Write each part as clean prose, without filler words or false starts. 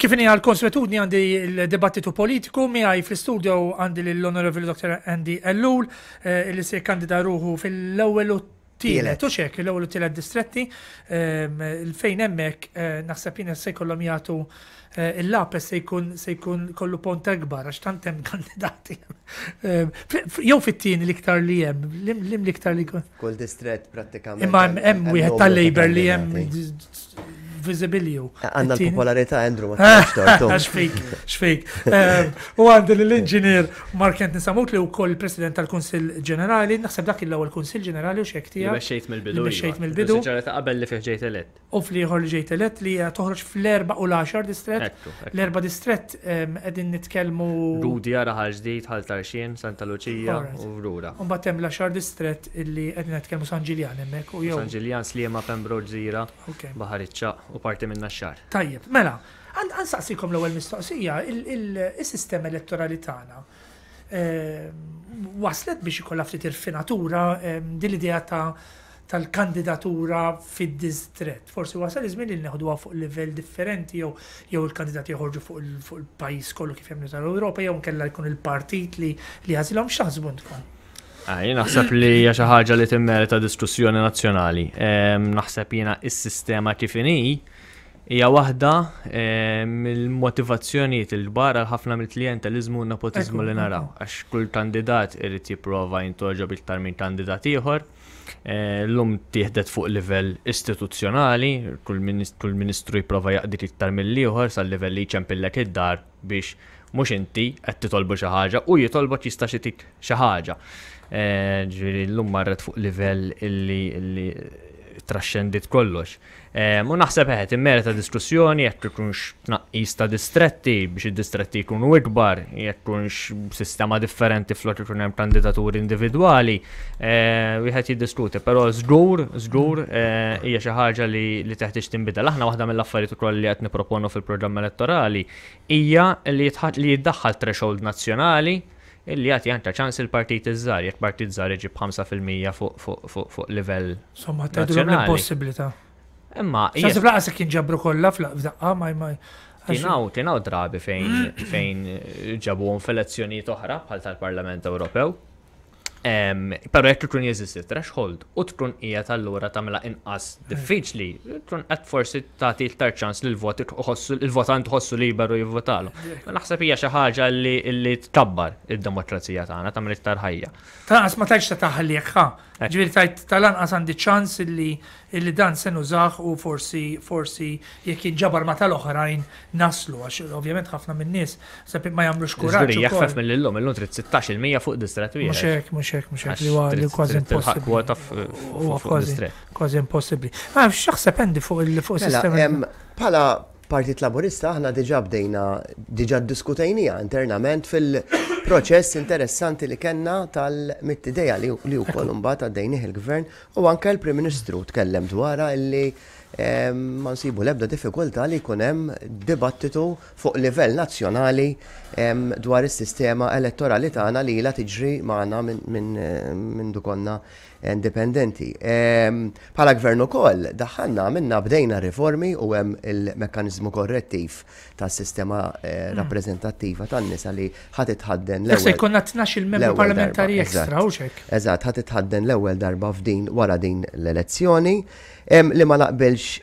Kif inhi għall-konswetudni għandi l-dibattitu politiku miegħi fl-istudio għandi lill-Onorevoli Dr. Andy Ellul eh, li se jikkandida ruħu fil-ewwel u tielet u xek l-ewwel u tielet distretti ehm, fejn hemmhekk eh, naħseb jiena se jkollhom jagħtu eh, il-lapes se jkun se jkun kollu pont akbar għax tant hemm kandidati. Ehm, jew fit-tieni l-iktar li hemm, lim l-iktar li jkun. Kull distrett prattikament. Imma hemm wieħed tal-Labor li hemm visibilju. Għanna l-popolarità, Andrew, ma tkunx tortu. Xfik, xfik. Ehm, u għandi l-inġinier Mark Anthony Samut li wkoll il-President tal-Kunsill Ġenerali, naħseb dak l-ewwel Kunsill Ġenerali u xek tiegħek. Li mexxejt mill-bidu. Li mexxejt iva. mill-bidu. Ġenerali ta' qabel li fih ġejt elett. U fl-ieħor li ġejt elett li toħroġ fl-erba' u l-għaxar distrett. L-erba' distrett ehm, qegħdin nitkellmu. Gudja, Raħal Ġdid, Ħal Tarxien, Santa Luċija u Vrura. U mbagħad hemm l-għaxar distrett illi qegħdin nitkellmu San Ġiljan hemmhekk u jew. San Ġiljan, Sliema, Pembroke, Gżira. Baħar iċ-Ċagħaq u parti minn Naxxar. Tajjeb, mela, ħa nsaqsikom l-ewwel mistoqsija, is-sistema elettorali tagħna waslet biex ikollha ftit irfinatura din l-idea ta' tal-kandidatura fid-distrett. Forsi wasal iż-żmien li neħduha fuq livell differenti jew jew il-kandidati joħorġu fuq il-pajjiż kollu kif jagħmlu tal-Ewropa jew nkella jkun il-partit li li jagħżilhom x'taħsbu intkom? Ah, jien naħseb li hija xi ħaġa li timmerita diskussjoni nazzjonali. Ehm, naħseb jiena is-sistema kif inhi hija waħda ehm, mill-motivazzjonijiet il-kbar għal ħafna mill-klijenteliżmu u nepotiżmu li naraw. Għax kull kandidat irid jipprova jintogħġob iktar minn kandidat ieħor. Eh, llum tieħdet fuq livell istituzzjonali, kull ministru jipprova jaqdik iktar mill-ieħor sal-livell li jċempillek id-dar biex mhux inti qed titolbu xi ħaġa u jitolbok jista' xitik xi ħaġa. Eh, ġifieri llum marret fuq livell illi traxxendit kollox. Eh, u naħseb eħed immerita diskussjoni jekk ikunx tnaqqis ta' distretti biex id-distretti jkunu ikbar, jekk ikunx sistema differenti flok ikun hemm kandidaturi individwali, eh, wieħed jiddiskuti, però żgur, żgur hija xi ħaġa li teħtieġ tinbidel. Aħna waħda mill-affarijiet ukoll li qed nipproponu fil-programm elettorali hija li jiddaħħal threshold nazzjonali illi jagħti anke ċans il-partiti ż-żgħar, jekk partit żgħar iġib 5% fuq livell. Insomma, tgħidulhom l-impossibilità. Imma. X'naħseb laqas jekk jinġabru kollha f'daqqa ma ma. Kienaw, kienaw drabi fejn fejn ġabuhom f'elezzjonijiet oħra bħal tal-Parlament Ewropew. Però jekk ikun jeżisti threshold u tkun qiegħed allura tagħmilha inqas diffiċli, tkun qed forsi tagħti iktar ċans li l-vot il-votant ħossu liberu jivvotalu. Naħseb hija xi ħaġa li tkabbar id-demokrazija tagħna, tagħmel iktar ħajja. Tal-anqas ma tgħidx ta' taħliek, ha. Ġifieri tgħid tal-anqas għandi ċans illi illi dan se nużah u forsi forsi jekk jinġabar ma' tal-oħrajn naslu għax ovvjament ħafna min-nies ma jagħmlux kuraġġ. Żgur jaħfef mill-illum, illum trid 16% fuq distrett wieħed. Mhux hekk, mhux hekk, mhux hekk li huwa li kważi impossibbli. Kwota fuq distrett. Kważi impossibbli. Ma x'taħseb Andy fuq il-fuq mela, sistema? Bħala Partit Laburista aħna diġà bdejna, diġà ddiskutejniha internament fil-proċess interessanti li kellna tal-mitt idea li wkoll imbagħad għaddejnih il-Gvern U anke l-Prim Ministru tkellem dwarha illi ma nsibu l-ebda diffikultà li jkun hemm dibattitu fuq livell nazzjonali dwar is-sistema elettorali tagħna li ilha tiġri magħna minn konna indipendenti. Bħala gvern ukoll daħħalna għamilna bdejna riformi u hemm il-mekkaniżmu korrettiv tas-sistema eh, rappreżentattiva tan-nisa li ħa titħadden l-ewwel. Se jkollna 12 il-membru parlamentari extra u xek. Eżatt, ħa titħadden l-ewwel darba f'din wara din l-elezzjoni. Li ma naqbilx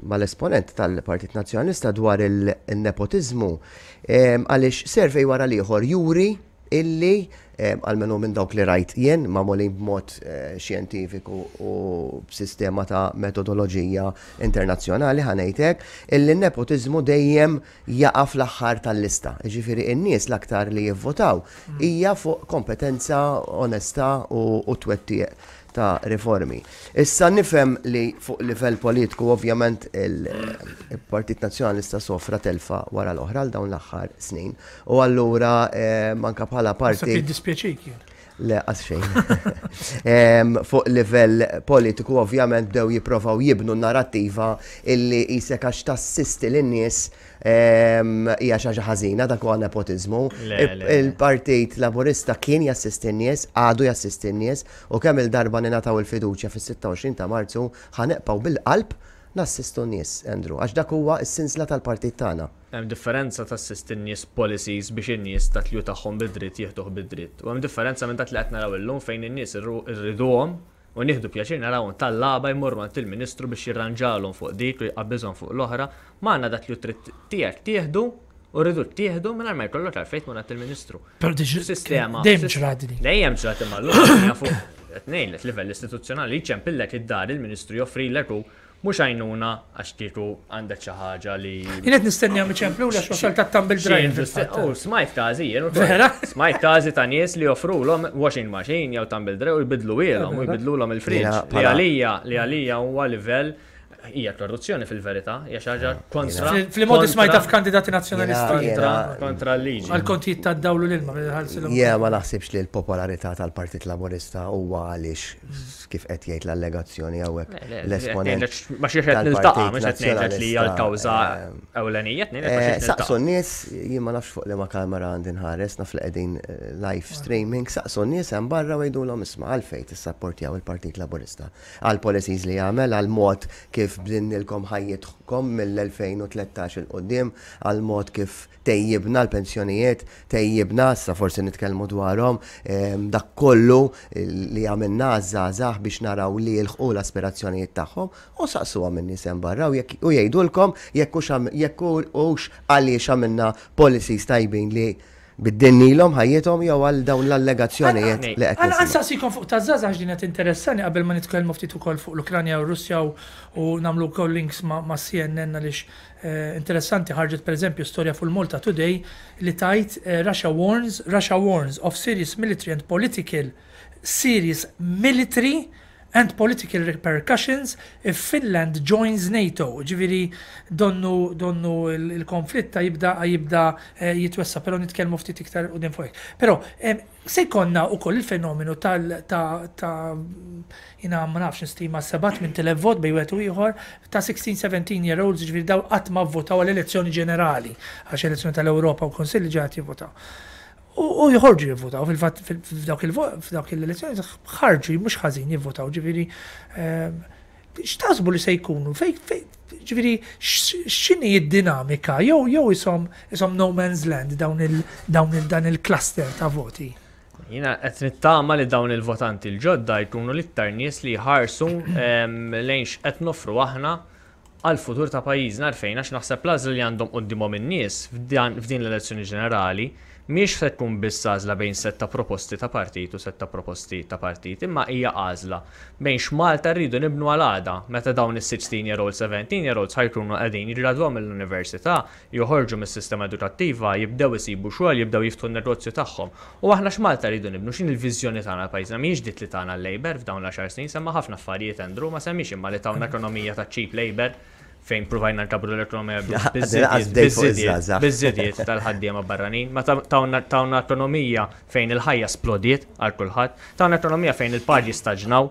mal-esponent tal-Partit Nazzjonalista dwar il-nepotiżmu għaliex survey wara l-ieħor juri illi, almenu minn dawk li rajt jien, magħmulin b'mod xjentifiku u b'sistema ta' metodoloġija internazzjonali, ħa ngħid hekk, illi n-nepotiżmu dejjem jaqa' fl-aħħar tal-lista. Jiġifieri n-nies l-aktar li jivvotaw hija fuq kompetenza, onestà u twettiq ta' riformi. Issa nifhem li fuq livell politiku ovvjament il-Partit Nazzjonalista sofra telfa wara l-oħra għal dawn l-aħħar snin. U allura eh, manka bħala parti. Naħseb jiddispjaċik jien. Le, qas xejn. Fuq livell politiku ovvjament bdew jipprovaw jibnu narrattiva illi jisek għax tassisti lin-nies hija xi ħaġa ħażina dak huwa nepotiżmu. Il-Partit Laburista kien jassisti n-nies, għadu jassisti n-nies u kemm il-darba ningħataw il-fiduċja fis-26 ta' Marzu ħa neqpaw bil-qalb. Nassistu n-nies, Andrew, għax dak huwa s-sinsla tal-partit tagħna. Hemm differenza tassisti n-nies b'policies biex in-nies dak li hu tagħhom bi dritt jieħduh bi dritt. U hemm differenza minn dak li qed naraw illum fejn in-nies irriduhom u nieħdu pjaċir narawhom tallaba jmorru għand il-Ministru biex jirranġalhom fuq dik u jqabbiżhom fuq l-oħra. Magħna dak li hu dritt tiegħek tieħdu u rriduk tieħdu mingħajr ma jkollok għalfejn tmur għand il-Ministru. Però diġ Sistema. Dejjem ġrat din. Dejjem ġrat imma llum fuq qed ngħidlek livell istituzzjonali jċempillek id-dar il-Ministru joffrilek u mhux għajnuna għax kieku għandek xi ħaġa li. Jien qed nistenni għam iċemplu għax wasal ta' tumble dryer. U smajt każi jien ukoll. Smajt każi ta' nies li joffrulhom washing machine jew tumble dryer u jbidlu ilhom u jbidlulhom il-fridge. Li għalija li għalija huwa livell Hija korruzzjoni fil-verità, hija xi ħaġa kontra. Fil-modi smajta f'kandidati nazzjonalisti. Kontra l-liġi. Għal-kontijiet ta' dawlu l-ilma. Jena ma naħsibx li l-popolarità tal-Partit Laburista huwa għaliex kif qed jgħid l-allegazzjoni hawnhekk l-esponent. Ma xi qed niltaqa' mhux qed ngħidlek li hija l-kawża ewlenija, Saqsu n-nies, jien ma nafx fuq liema kamera għandi nħares, naf li qegħdin live streaming, saqsu n-nies hemm barra u jgħidulhom isma' għalfejn tissapportjaw il-Partit Laburista. Għall-policies li għamel, għall-mod kif bdilnilkom ħajjitkom mill-2013 'il quddiem, għall-mod kif tejjibna l-pensjonijiet, tejjibna, issa forsi nitkellmu dwarhom, dak kollu li għamilna għaż-żgħażagħ biex naraw li jilħqu l-aspirazzjonijiet tagħhom, u saqsuhom in-nies hemm barra u jekk u jgħidulkom jekk hux jekk hux għaliex għamilna policies tajbin li Biddilnilhom ħajjithom jew għal dawn l-allegazzjonijiet li qed nisimgħu? Nsaqsikom fuq taż-żgħażagħ għax din qed tinteressani qabel ma nitkellmu ftit ukoll fuq l-Ukranja u r-Russja u nagħmlu wkoll links ma' CNN għaliex interessanti ħarġet pereżempju storja fuq il-Malta Today li tgħid Russia warns Russia warns of serious military and political serious military and political repercussions if Finland joins NATO, ġifieri donnu donnu l-konflitt ta' jibda jibda jitwessa', però nitkellmu ftit iktar 'il quddiem fuq hekk. Però se jkollna wkoll il-fenomenu tal ta' ta' jiena ma nafx nistima 7,000 vot bejn wieħed u ieħor ta' 16, 17 year olds, ġifieri dawn qatt ma vvotaw għal elezzjoni ġenerali, għax elezzjoni tal-Ewropa u Kunsill diġà qed jivvotaw. U joħorġu jivvotaw, fil-fatt f'dawk l-elezzjoni ħarġu mhux ħażin jivvotaw, ġifieri ehm, x'taħsbu li se jkunu, fej, ġifieri x'inhi d-dinamika jew jew isom isom no man's land dawn il dawn il dan il-cluster ta' voti. Jiena qed nittama li dawn il-votanti l-ġodda jkunu l-iktar nies li jħarsu ehm, lejn x'qed nofru aħna għall-futur ta' pajjiżna għalfejn għax naħseb l-għażla li għandhom quddiemhom in-nies f'din l-elezzjoni ġenerali mhijiex se tkun biss għażla bejn sett ta' proposti ta' partit u sett ta' proposti ta' partit imma hija għażla bejn x'Malta rridu nibnu għal għada meta dawn is-16 year olds, 17 year olds ħa jkunu qegħdin jiggradwaw mill-università joħorġu mis-sistema edukattiva, jibdew isibu xogħol, jibdew jiftħu n-negozju tagħhom. U aħna x'Malta rridu nibnu, x'inhi l-viżjoni tagħna għal pajjiżna? Mhijiex dik li tana l-Labour f'dawn l-għaxar snin, semma ħafna affarijiet Andrew, ma semmiex imma li tawna ekonomija ta' cheap labour fejn pruvajna nkabbru l-ekonomija biż-żidiet tal-ħaddiema barranin, ma tawna ekonomija fejn il-ħajja splodiet għal kulħadd, tawna ekonomija fejn il-paġi staġnaw,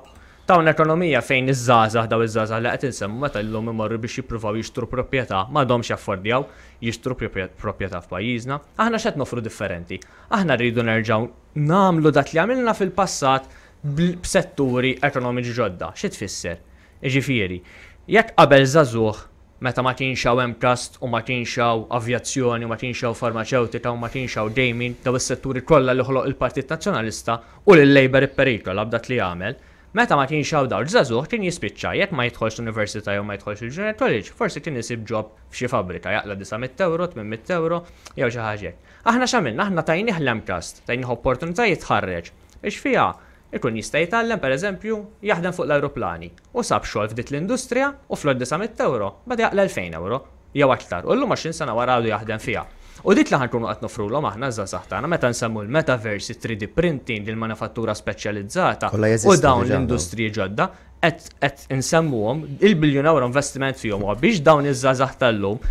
Tawna ekonomija fejn iż-żgħażagħ, dawn iż-żgħażagħ li qed insemmu meta llum imorru biex jippruvaw jixtru proprjetà m'għadhomx jaffordjaw jixtru proprjetà f'pajjiżna. Aħna x'qed noffru differenti? Aħna rridu nerġgħu nagħmlu dak li għamilna fil-passat b'setturi ekonomiċi ġodda. Xi tfisser? Jiġifieri, jekk qabel żagħżugħ meta ma kienx hawn MCAST u ma kienx hawn avjazzjoni u ma kienx hawn farmaċewtika u ma kienx hawn gaming, dawn is-setturi kollha li ħoloq il-Partit Nazzjonalista u li l-Labour ipperikola b'dak li għamel, meta ma kienx hawn dawl żagħżugħ kien jispiċċa jekk ma jidħolx l-università jew ma jidħolx il-junior college, forsi kien isib job f'xi fabbrika jaqla' 900 ewro, 800 ewro jew xi ħaġa hekk. Aħna x'għamilna? Aħna tajnih l-MCAST, tajnih opportunità jitħarreġ biex fiha ikun jista' jitgħallem pereżempju jaħdem fuq l-ajruplani u sab xogħol f'dik l-industrija u flok 900 ewro beda jaqla' 2000 ewro. Jew aktar, u llum 20 sena wara għadu jaħdem fiha. U dik li ħa nkunu qed noffrulhom aħna ż-żgħażagħ tagħna meta nsemmu l-metaverse, it-3D printing, il-manifattura speċjalizzata u dawn l-industriji ġodda, qed qed insemmuhom, il-biljun ewro investiment fihom huwa biex dawn iż-żgħażagħ tal-lum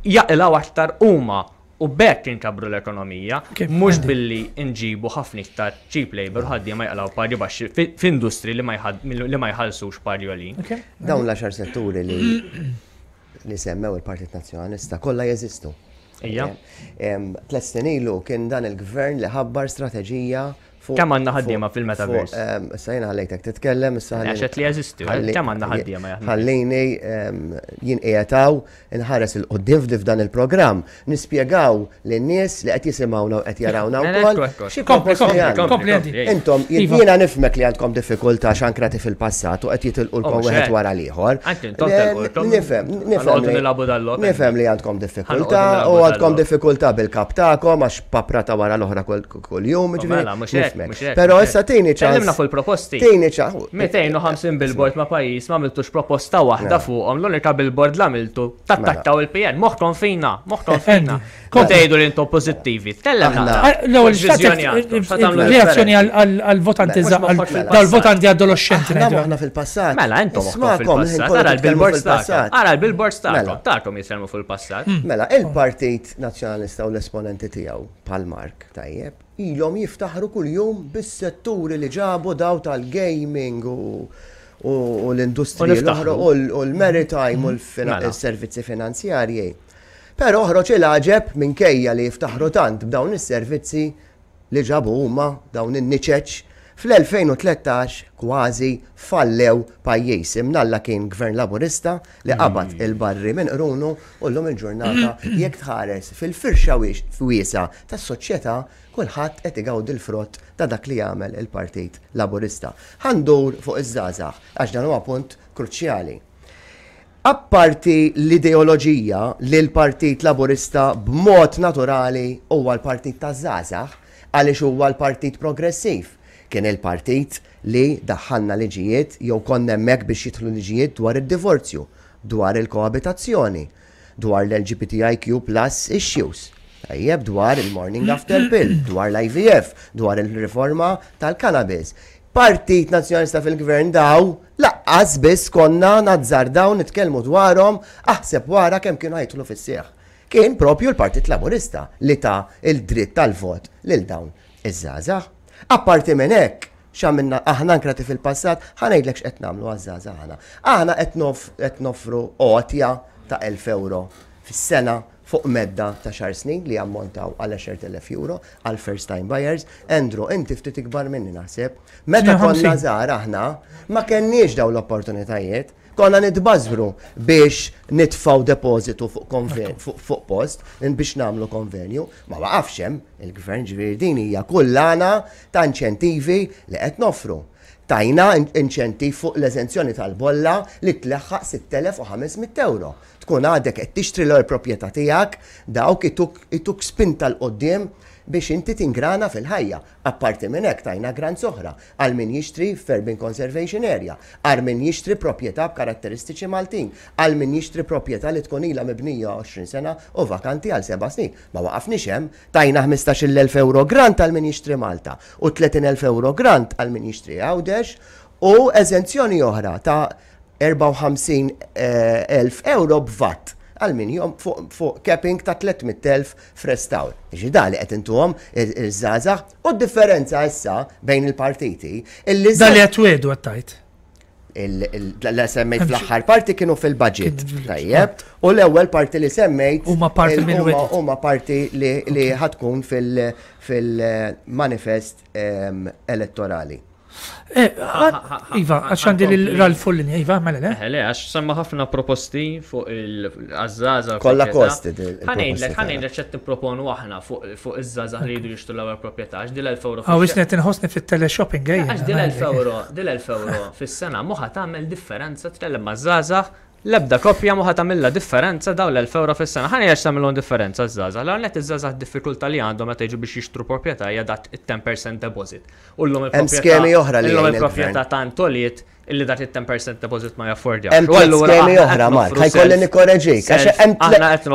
jaqilgħu aktar huma u b'hekk inkabbru l-ekonomija, mhux billi nġibu ħafna iktar cheap labour u ħaddiema jaqilgħu pagi baxxi f'industri li ma jħallsux pagi għoljin. Dawn l-għaxar setturi li li semmew il-Partit Nazzjonalista kollha jeżistu. Ija. Tlet snin ilu kien dan il-gvern li ħabbar strateġija Kemm għandna ħaddiema fil-metaverse? Issa jiena ħallejtek titkellem, issa ħalli. Għax li jeżisti, kemm għandna ħaddiema jaħdmu. Ħallini jien qiegħed hawn inħares 'il quddiem f'dan il-programm, nispjegaw lin-nies li qed jisimgħuna u qed jarawna wkoll. Xi proposti għandna. Intom, jiena nifhmek li għandkom diffikultà x'ankrati fil-passat u qed jitilqulkom oh, wieħed wara l-ieħor. Nifhem, nifhem. Nifhem li għandkom diffikultà u għandkom diffikultà bil-kap tagħkom għax paprata wara l-oħra kull-jum, oh, mela, mhux hekk. Però issa tini ċans. Kellimna fuq il-proposti. Tini ċans. 250 billboard ma' pajjiż ma għamiltux proposta waħda mela. fuqhom, l-unika billboard l għamiltu tattakkaw il-PN, moħħkom fina, moħħkom fina. Kont tgħidu li intom pożittivi. Tkellem L-ewwel reazzjoni għall-votanti dal-votanti adolescenti. Aħna fil-passat. Mela intom fil-passat. Ara l-billboards tagħkom. Ara l-billboards tagħkom. Tagħkom jitkellmu fil-passat. Mela, il-Partit Nazzjonalista u l-esponenti tiegħu bħal Mark, tajjeb, ilhom jiftaħru kuljum bis-setturi li ġabu daw tal-gaming u u l-industriji l-oħra u l-maritime u l-servizzi finanzjarji. Però oħroġ il-għaġeb minkejja li jiftaħru tant b'dawn is-servizzi li ġabu huma dawn in-niċeċ, fl-2013 kważi fallew pajjiż. Imnalla kien Gvern Laburista li qabad il-barri minn qrunu u llum il-ġurnata jekk tħares fil-firxa wiesgħa tas-soċjetà kulħadd qed igawdi l-frott ta' dak li għamel il-Partit Laburista. Ħa ndur fuq iż-żgħażagħ għax dan huwa punt kruċjali. Apparti l-ideoloġija li l-Partit Laburista b'mod naturali huwa l-partit taż-żgħażagħ għaliex huwa l-partit progressiv. Kien il-partit li daħħalna liġijiet jew konna hemmhekk biex jidħlu liġijiet dwar id-divorzju, dwar il-koabitazzjoni, dwar l-LGBTIQ plus issues, tajjeb, dwar il-morning after pill, dwar l-IVF, dwar il-riforma tal-cannabis. Partit Nazzjonalista fil-Gvern daw laqqas biss konna nazzardaw nitkellmu dwarhom aħseb wara kemm kienu ħa jidħlu fis-seħħ. Kien propju l-Partit Laburista li ta l-dritt tal-vot lil dawn iż-żgħażagħ. Apparti minn hekk, x'għamilna aħna ankrati fil-passat, ħa ngħidlek x'qed nagħmlu għaż-żgħażagħ aħna. Aħna qed noffru għotja ta' 1,000 ewro fis-sena fuq medda ta' xar snin li jammontaw għal 10,000 euro għal first time buyers. Andrew, inti ftit ikbar minni naħseb. Meta konna żgħar aħna ma kenniex dawn l-opportunitajiet. Konna nitbażwru biex nitfgħu depożitu fuq post biex nagħmlu konvenju. Ma waqafx hemm il-gvern ġifieri din hija kullana ta' inċentivi li qed noffru. Tajna inċentiv fuq l-eżenzjoni tal-bolla li tleħħaq 6,500 euro. Tkun għadek qed tixtri l-ewwel proprjetà tiegħek, dawk ituk spinta 'l quddiem biex inti tingrana fil-ħajja. Apparti minn hekk tajna grants oħra għal min jixtri f'urban conservation area, għal min jixtri proprjetà b'karatteristiċi Maltin, għal min jixtri proprjetà li tkun ilha mibnija 20 sena u vakanti għal seba' snin. Ma waqafniex hemm, tajna 15,000 ewro grant għal min jixtri Malta u 30,000 ewro grant għal min jixtri Għawdex u eżenzjoni oħra ta' 54,000 ewro b'VAT għal min jom fuq capping ta' 300,000 f'restawr. Ġi da li qed intuhom iż-żgħażagħ u d-differenza issa bejn il-partiti illi Da li qed twedu qed tgħid. Li semmejt fl-aħħar parti kienu fil-budget. Tajjeb. U l-ewwel parti li semmejt huma parti mill huma parti li ħa tkun fil-manifest elettorali. Eh, iva, għax għandi l-Ralf Fullini, iva, mela le? Eh, le, għax semma ħafna proposti fuq il-għazzaza. Kolla kosti. Ħa ngħidlek, ħa ngħidlek x'qed nipproponu aħna fuq iż-żgħażagħ li jridu jixtru l-ewwel proprjetà, għax dil 1000 euro. Għaw, isnet inħossni fit-teleshopping, ejja. Għax dil 1000 euro, dil 1000 euro fis-sena moħa tagħmel differenza tkellem ma' żgħażagħ L-ebda koppja mhu ħa tagħmilha differenza dawn l-1,000 ewro fis-sena. Ħa ngħid għax tagħmilhom differenza ż-żgħażagħ. L-ewwel nett iż-żgħażagħ d-diffikultà li għandhom meta jiġu biex jixtru proprjetà hija dak it-ten percent deposit. U llum Hemm skemi oħra li illum il-proprjetà tant għoliet illi dak it-ten percent deposit ma jaffordjawx. Hemm tliet skemi oħra, Mark, ħa jkolli nikkoreġik, għax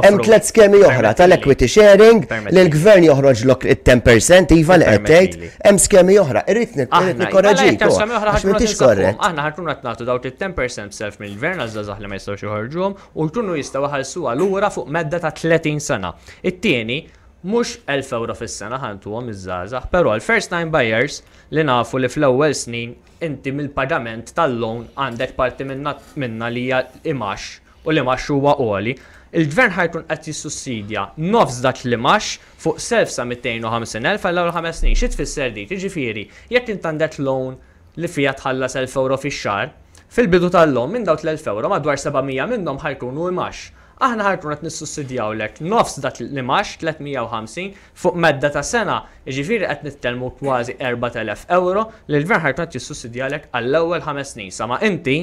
hemm tliet skemi oħra tal-equity sharing li l-gvern joħroġlok it-ten percent iva li qed tgħid. Hemm skemi oħra, irrid nikkoreġik. Għax m'intix korrett. Aħna ħa nkunu qed nagħtu dawk it-10% self mill-gvern għaż-żgħażagħ li ma jistgħux joħorġuhom u jkunu jistgħu iħallsuha lura fuq medda ta' 30 sena. It-tieni, mhux 1000 ewro fis-sena ħa ntuhom iż-żgħażagħ, però l-first time buyers li nafu li fl-ewwel snin inti mill-pagament tal-loan għandek parti minnha li hija imgħax u l-imgħax huwa għoli. Il-Gvern ħa jkun qed jissussidja nofs dak l-imgħax fuq self sa 250,000 għall-ewwel ħames snin. Xi tfisser dik? Jiġifieri, jekk int għandek loan li fiha tħallas 1,000 ewro fix-xahar, fil-bidu tal-loan minn dawk l-1,000 ewro madwar 700 minnhom ħa jkunu imgħax. Aħna ħa nkunu qed nissussidjawlek nofs dak l-imgħax, 350, fuq medda ta' sena, jiġifieri qed nitkellmu kważi 4,000 ewro li l-Gvern ħa jkun qed jissussidjalek għall-ewwel ħames snin sa ma inti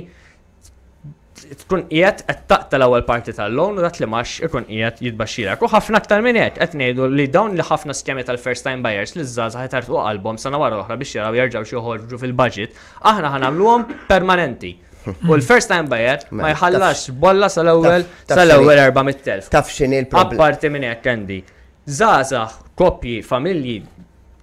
tkun qiegħed qed taqta' l-ewwel parti tal-loan u dak l-imgħax ikun qiegħed jitbaxxilek. U ħafna aktar minn hekk qed ngħidu li dawn li ħafna skemi tal-first time buyers li ż-żgħażagħ itartqu qalbhom sena wara l-oħra biex jaraw jerġgħux joħorġu fil-budget, aħna ħa nagħmluhom permanenti. U l-first time buyer ma jħallasx bolla sal-ewwel sal-ewwel 400,000. Taf x'inhi l-problema. Apparti minn hekk Andy, żgħażagħ, koppji, familji,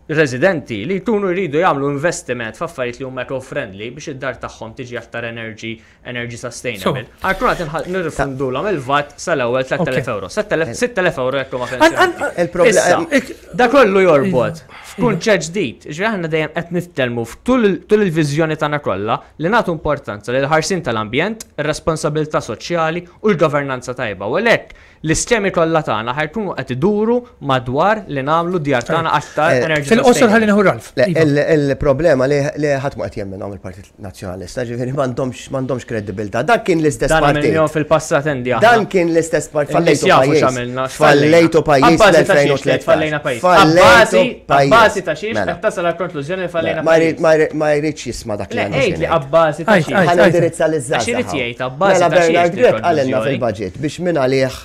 residenti li jkunu jridu jagħmlu investiment f'affarijiet li huma eco-friendly biex id-dar tagħhom tiġi aktar energy energy sustainable. Għal qed nirrifundulhom il-VAT sal-ewwel 3000 euro. 6000 euro jekk huma pensjonati. Da kollu jorbot f'kunċett ġdid. Ġifieri aħna dejjem qed nitkellmu tul il-viżjoni tagħna kollha li nagħtu importanza lill-ħarsien tal-ambjent, ir-responsabilità soċjali u l-governanza tajba. U għalhekk L-iskemi kollha tagħna ħa jkunu qed iduru madwar li nagħmlu d-djar tagħna aktar energy Fil-qosor ħalli nieħu Ralf. Iva. Il-problema li ħadd ma qed jemminhom il-Partit Nazzjonalista, ġifieri m'għandhomx m'għandhomx kredibilità. Dan kien l-istess partit. Dan fil-passat Andy aħna. Dan kien l-istess partit. Fallejtu pajjiż. Fallejtu pajjiż fl-2013. Fallejna pajjiż. Fallejtu pajjiż. Abbażi ta' xiex qed tasal għall-konklużjoni li fallejna pajjiż. Ma jridx jisma' dak li għandu. Għid li abbażi ta' xiex. Ħa nindirizza liż-żgħażagħ. Għax irid jgħid abbażi ta' xiex. Mela Bernard Grech qalilna fil-budget biex minn għalih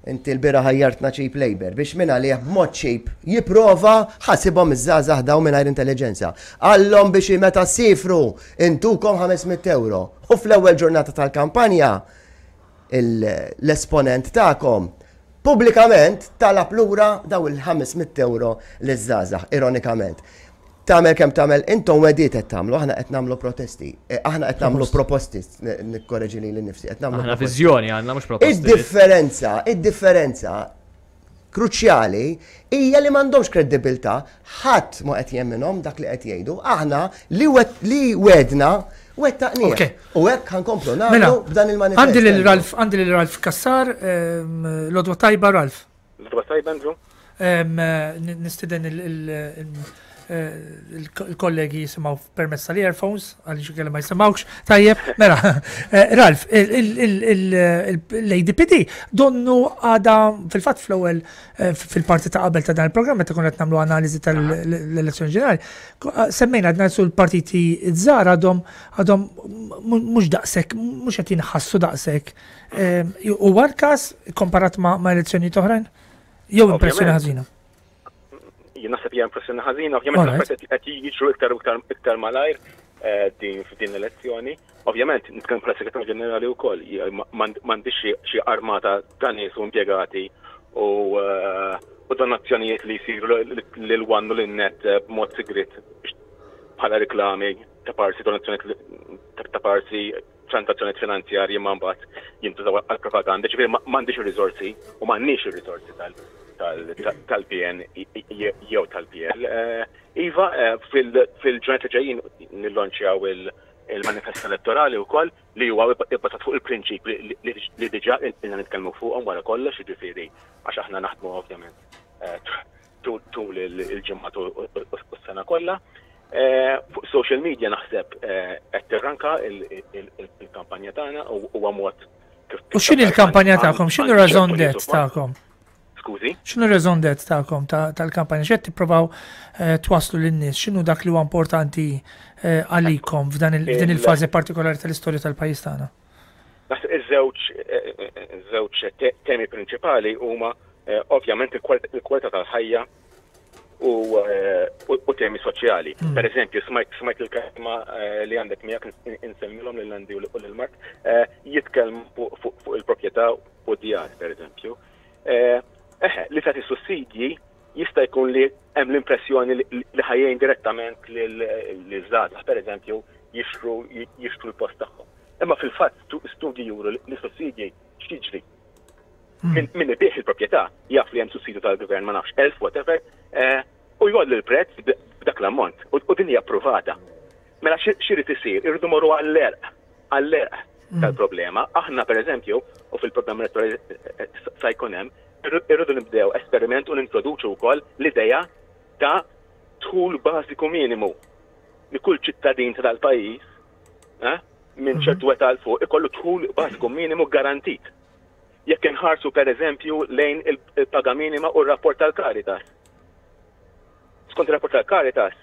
Inti l-bieraħ għajjartna cheap labour biex mingħalih b'mod cheap jipprova ħasibhom iż-żgħażagħ dawn mingħajr intelliġenza. Qallhom biex meta ssiefru intukom 500 ewro. U fl-ewwel ġurnata tal-kampanja l-esponent tagħkom pubblikament talab lura daw il-500 ewro liż-żgħażagħ, ironikament. Tagħmel kemm tagħmel, intom wegħdiet qed tagħmlu, aħna qed nagħmlu protesti. Eh, aħna qed nagħmlu proposti, nikkoreġi lili nnifsi, qed nagħmlu. Aħna viżjoni għandna mhux proposti. Id-differenza, id-differenza kruċjali hija li m'għandhomx kredibilità, ħadd ma qed jemminhom dak li qed jgħidu. Aħna li li wedna wettaqnieh. U hekk ħankomplu nagħmlu mela, b'dan il-manifest. Għandi lil Ralf, għandi lil Ralf Kassar, ehm, l-odwa tajba Ralf. L-odwa tajba Andrew. Nistiden il-kollegi jisimaw permezz tal-earphones, għaliex inkella ma jisimgħux. Tajjeb, mela, eh, Ralf, l-ADPD donnu għada fil-fatt fl-ewwel eh, fil-parti ta' qabel ta' dan il-programm meta konna qed nagħmlu analiżi tal-elezzjoni ġenerali, eh, semmejna għadna sul l-partiti żgħar għadhom għadhom mhux daqshekk, mhux qed jinħassu daqshekk Huwa l-każ komparat ma' elezzjonijiet oħrajn? Jew impressjoni ħażina? Jien naħseb hija impressjoni ħażina, ovvjament l-affarijiet qed jiġru iktar u iktar iktar malajr eh, din f'din l-elezzjoni. Ovvjament, nitkellem bħala segretarju ġenerali wkoll, m'għandix xi armata ta' nies u impjegati u eh, u donazzjonijiet li jsiru lil one u lin net eh, b'mod sigriet bħala reklami ta' parsi donazzjonijiet ta' parsi transazzjonijiet finanzjarji ma mbagħad jintużaw għall-propaganda, ġifieri m'għandix ir-riżorsi u m'għandniex ir-riżorsi tal-PN jew tal-PL. Eh, iva, eh, fil-ġranet li ġejjin nillonċjaw il-manifest elettorali wkoll li huwa ibbażat fuq il-prinċipji li diġà ilna nitkellmu fuqhom wara kollox, jiġifieri għax aħna naħdmu ovvjament eh, tul il-ġimgħat u s-sena kollha. Eh, fuq social media naħseb eh, qed tirranka il-kampanja tagħna u huwa mod kif. U x'inhi l-kampanja tagħkom? X'inhu raison d'être tagħkom? Skużi? X'inhu raison d'être tagħkom tal-kampanja? X'qed tippruvaw eh, twasslu lin-nies? X'inhu dak li huwa importanti għalikom f'dan il-fażi partikolari tal-istorja tal-pajjiż tagħna? Naħseb iż-żewġ żewġ temi prinċipali huma eh, ovvjament il-kwalità tal-ħajja eh, u temi soċjali. Hmm. Per eżempju, smajt il-kelma eh, li għandek miegħek insemmilhom lil Andy u lil Mark jitkellmu fuq il-proprjetà u djar, per eżempju. Eħe, li tagħti sussidji jista' jkun li hemm l-impressjoni li ħajjin direttament liż-żgħażagħ, per eżempju, jixtru jixtru l-post tagħhom. Imma fil-fatt studji juru li sussidji x'jiġri. Hmm. Min ibih il-proprjetà jaf li hemm sussidju tal-gvern ma nafx elf whatever, eh, u jgħolli l-prezz b'dak l-ammont u din hija approvata. Mela x'irid isir? Irridu morru għall-erq, għall-erq. tal-problema. Aħna pereżempju, u fil-programm elettorali sa jkun hemm, irridu nibdew esperiment u nintroduċu wkoll l-idea ta' dħul bażiku minimu li kull ċittadin ta' dal-pajjiż eh, minn ċertu età 'l fuq ikollu dħul bażiku minimu garantit. Jekk inħarsu pereżempju lejn il-paga minima u r-rapport tal-Caritas. Skont ir-rapport tal-Caritas,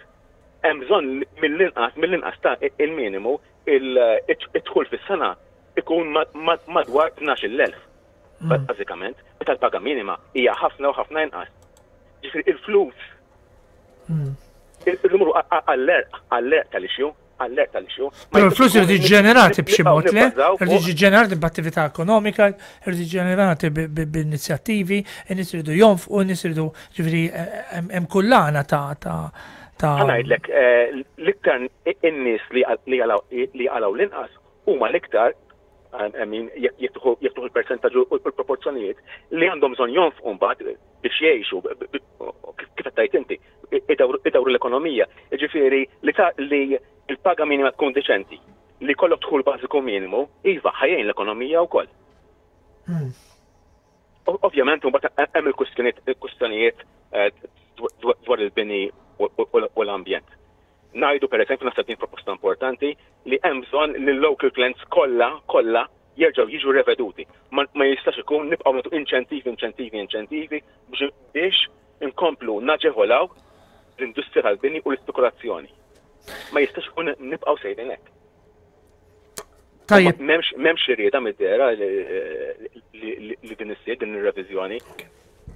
hemm bżonn mill-inqas mill-inqas ta' il-minimu id-dħul fis-sena ikun madwar 12,000. Bażikament, meta l-paga minima hija ħafna u ħafna inqas. Ġifieri il-flus il-numru għall-erq, għall-erq tal-issue, għall-erq tal-issue. Però l-flus irid ġenerati b'xi mod, le? Irid jiġi ġenerati b'attività ekonomika, irid jiġi ġenerati b'inizjattivi, in-nies iridu jonfqu, in-nies iridu ġifieri hemm kullana ta' ta' ta' Ngħidlek, l-iktar in-nies li jaqalgħu l-inqas huma l-iktar I mean, jekk tieħu il-persentaġġ u l-proporzjonijiet li għandhom bżonn jonfqu mbagħad biex jgħixu, kif qed tgħid inti, idawru l-ekonomija. Jiġifieri li li l-paga minima tkun deċenti, li jkollok dħul bażiku minimu, iva, ħa jgħin l-ekonomija wkoll. Ovvjament, mbagħad hemm il-kwistjonijiet dwar il-bini u l-ambjent. Ngħidu pereżempju, naħseb din proposta importanti, li hemm bżonn li l-local plans kollha, kollha jerġgħu jiġu reveduti. Ma, ma jistax ikun nibqgħu nagħtu inċentivi, inċentivi, inċentivi biex, biex inkomplu naġevolaw l-industrija tal-bini u l-ispekulazzjoni. Ma jistax ikun nibqgħu sejrin hekk. Tajjeb. M'hemmx m'hemmx irrieda mid-dehra li, li, li din issir din ir-reviżjoni.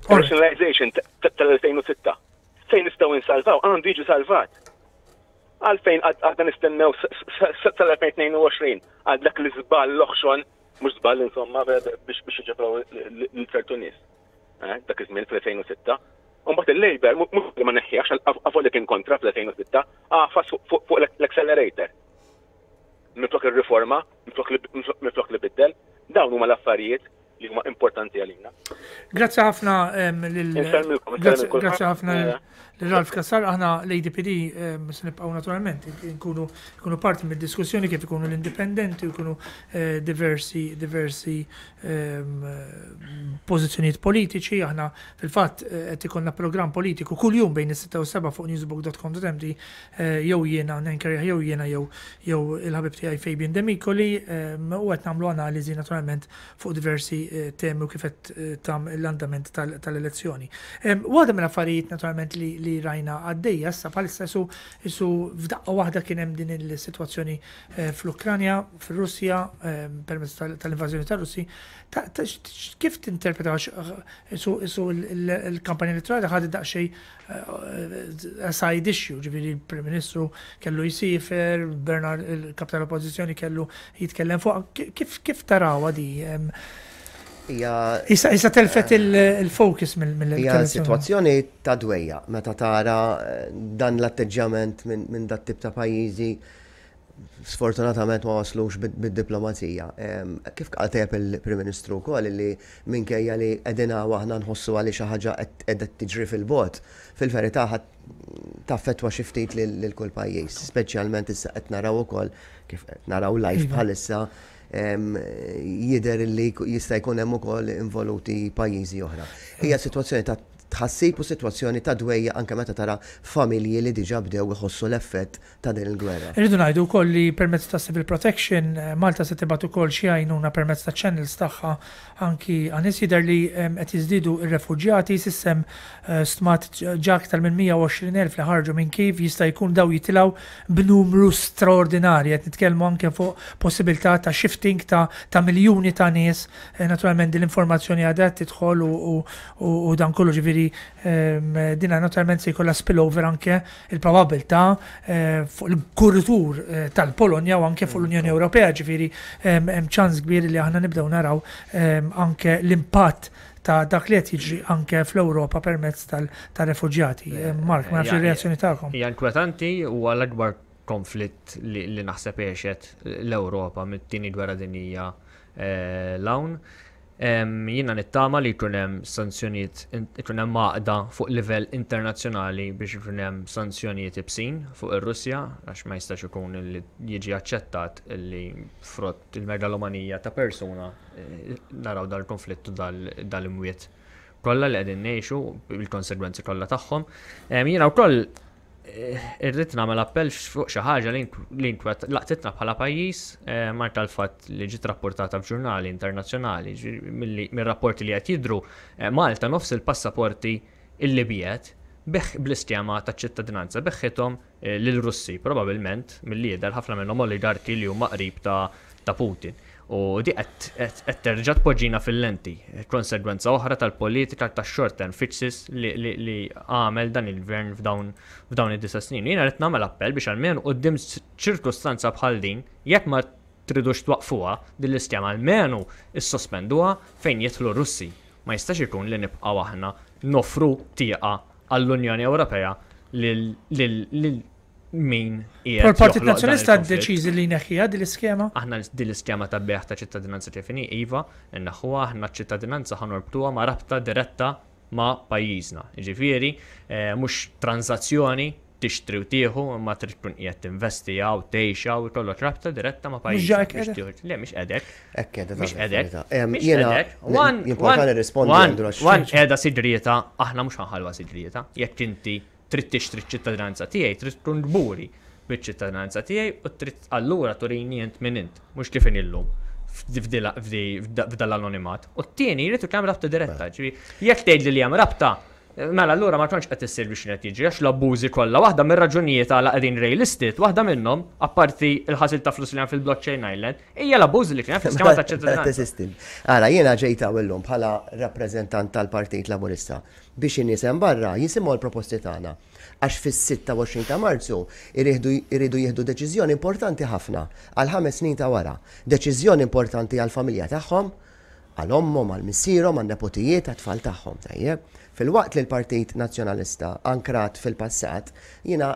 Rationalization tal-2006 Fejn nistgħu insalvaw għandu jiġi salvat. Għalfejn għadna nistennew sal-2022 għal dak l-iżball l-oħxon, mhux żball insomma biex biex iġebraw lil ċertu nies. Eh, dak iż-żmien fl-2006. Imbagħad il-Labour mhux li ma neħħiex avolja kien kontra fl-2006, għafas fuq l-accelerator. Minflok ir-riforma, minflok li biddel, dawn huma l-affarijiet li huma importanti għalina. Grazzi ħafna lil Grazzi ħafna lil Ralf Kassar, aħna l-ADPD se nibqgħu naturalment nkunu nkunu parti mid-diskussjoni kif ikunu l-indipendenti u jkunu eh, diversi diversi pożizzjonijiet politiċi, aħna fil-fatt eh, qed ikollna programm politiku kuljum bejn is-6 u 7 fuq newsbook.com.md eh, jew jiena nenkerja jew jiena jew jew il-ħabib tiegħi Fabian Demicoli u qed nagħmlu analiżi naturalment fuq diversi temi u kif qed tam l-andament tal-elezzjoni. Waħda mill-affarijiet naturalment li rajna għaddejja issa bħalissa isu isu f'daqqa waħda kien hemm din il-sitwazzjoni fl-Ukranja, fir-Russja, permezz tal-invażjoni tar-Russi. Kif tinterpreta isu il-kampanja elettorali ħadet daqsxejn a side issue, ġifieri l-Prim Ministru kellu jsifer, Bernard il-kap tal-Oppożizzjoni kellu jitkellem fuq. Kif kif tarawha di? Issa issa telfet il-focus mill Hija sitwazzjoni ta' dwejja meta tara eh, dan l-atteġġjament minn dat tip ta' pajjiżi sfortunatament ma waslux bid-diplomazija. Kif qal tajjeb il-Prim Ministru wkoll li minkejja li qegħdin hawn aħna nħossu għalli xi ħaġa qiegħda tiġri fil-bogħod, fil-verità taffettwa xi ftit lil kull pajjiż, speċjalment issa qed naraw ukoll kif qed naraw live iva. bħalissa jidher li jista' jkun hemm ukoll involuti pajjiżi oħra. Hija sitwazzjoni ta' tħassib u sitwazzjoni ta' dwejja anke meta tara familji li diġà bdew iħossu l-effett ta' din il-gwerra. Irridu ngħidu wkoll li permezz ta' Civil Protection, Malta se tibgħat ukoll xi għajnuna permezz ta' channels tagħha anki għan-nies. Jidher li qed jiżdiedu r-refuġjati, s'issa hemm stmat ġa aktar minn 120,000 li ħarġu minn Kiev, jista' jkun dawn jitilgħu b'numru straordinarji. Qed nitkellmu anke fuq possibilità ta' shifting ta' ta' miljuni ta' nies. Naturalment din l-informazzjoni għadha qed tidħol u dan kollu ġifieri dina naturalment se jkollha spillover anke il-probabbiltà fuq il-kuritur tal-Polonja u anke fuq l-Unjoni Ewropea, ġifieri hemm ċans kbir li aħna nibdew naraw anke l-impatt ta' dak li qed jiġri anke fl-Ewropa permezz tar-refuġjati. Mark, ma nafx ir-reazzjoni tagħkom. Hija inkwetanti huwa l-akbar konflitt li naħseb għexet l-Ewropa mit-tieni gwerra dinjija 'l hawn. Jiena nittama li jkun hemm sanzjonijiet, ikun hemm għaqda fuq livell internazzjonali biex ikun hemm sanzjonijiet ibsin fuq ir-Russja għax ma jistax ikun li jiġi aċċettat li frott il-megalomanija ta' persuna eh, naraw dal-konflitt u dal-imwiet kollha li qegħdin ngħixu bil-konsegwenzi kollha tagħhom. Jiena wkoll Irrid nagħmel appell fuq xi ħaġa li inkwet laqtitna bħala pajjiż eh, mar tal-fatt li ġiet rapportata f'ġurnali internazzjonali mir-rapporti li qed jidhru eh, Malta nofs il-passaporti illi biet beħ bl-iskema ta' ċittadinanza beħħithom eh, lil Russi, probabbilment milli jidher ħafna minnhom oligarki li huma qrib ta' ta' Putin. U di qed terġa' tpoġġina fil-lenti. Konsegwenza oħra tal-politika ta' short term fixes li għamel dan il-gvern f'dawn id-disa' snin. Jiena rrid nagħmel appell biex almenu quddiem ċirkustanza bħal din, jekk ma tridux twaqqfuha din l-iskema almenu issospenduha fejn jidħlu r-Russi. Ma jistax ikun li nibqgħu aħna noffru tieqa għall-Unjoni Ewropea lil min qiegħed. Il-Partit Nazzjonalista ddeċiżi li jneħħiha din l-iskema? Aħna din l-iskema ta' bejgħ ta' ċittadinanza kif inhi iva, inneħħuha aħna ċ-ċittadinanza ħa norbtuha ma' rabta diretta ma' pajjiżna. Jiġifieri eh, mhux tranżazzjoni tixtri u tieħu imma trid tkun qiegħed tinvesti hawn, tgħix hawn, ikollok rabta diretta ma' pajjiżna. Le mhix qedek. Hekk qiegħda Mhix qedek. Mhix qedek. Jien nirrispondi. One qiegħda sigrieta, aħna mhux ħanħalwa sigrieta. Jekk inti Trid tixtri ċ-ċittadinanza tiegħi, trid tkun kburi biċ-ċittadinanza tiegħi u trid allura turini int min int, mhux kif inhi llum f'dal-anonimat. U t-tieni jrid ikun hemm rabta diretta, ġifieri jekk tgħidli li hemm rabta, mela allura ma kontx qed issir biex qed jiġri għax l-abbużi kollha waħda mir-raġunijiet għala qegħdin greylisted, waħda minnhom, apparti l-ħasil ta' flus li hemm fil-blockchain island, hija l-abbużi li kien hemm fl-iskema ta' ċittadinanza. Ara, jiena ġejt hawn illum bħala rappreżentant tal-Partit Laburista biex in-nies hemm barra jisimgħu l-proposti tagħna għax fis-26 ta' Marzu jridu jieħdu deċiżjoni importanti ħafna għall-ħames snin ta' wara. Deċiżjoni importanti għall-familja tagħhom, għal ommhom, għal missierhom, għan-nepotijiet, għat-tfal tagħhom. Tajjeb? Filwaqt li l-Partit Nazzjonalista ankrat fil-passat, jiena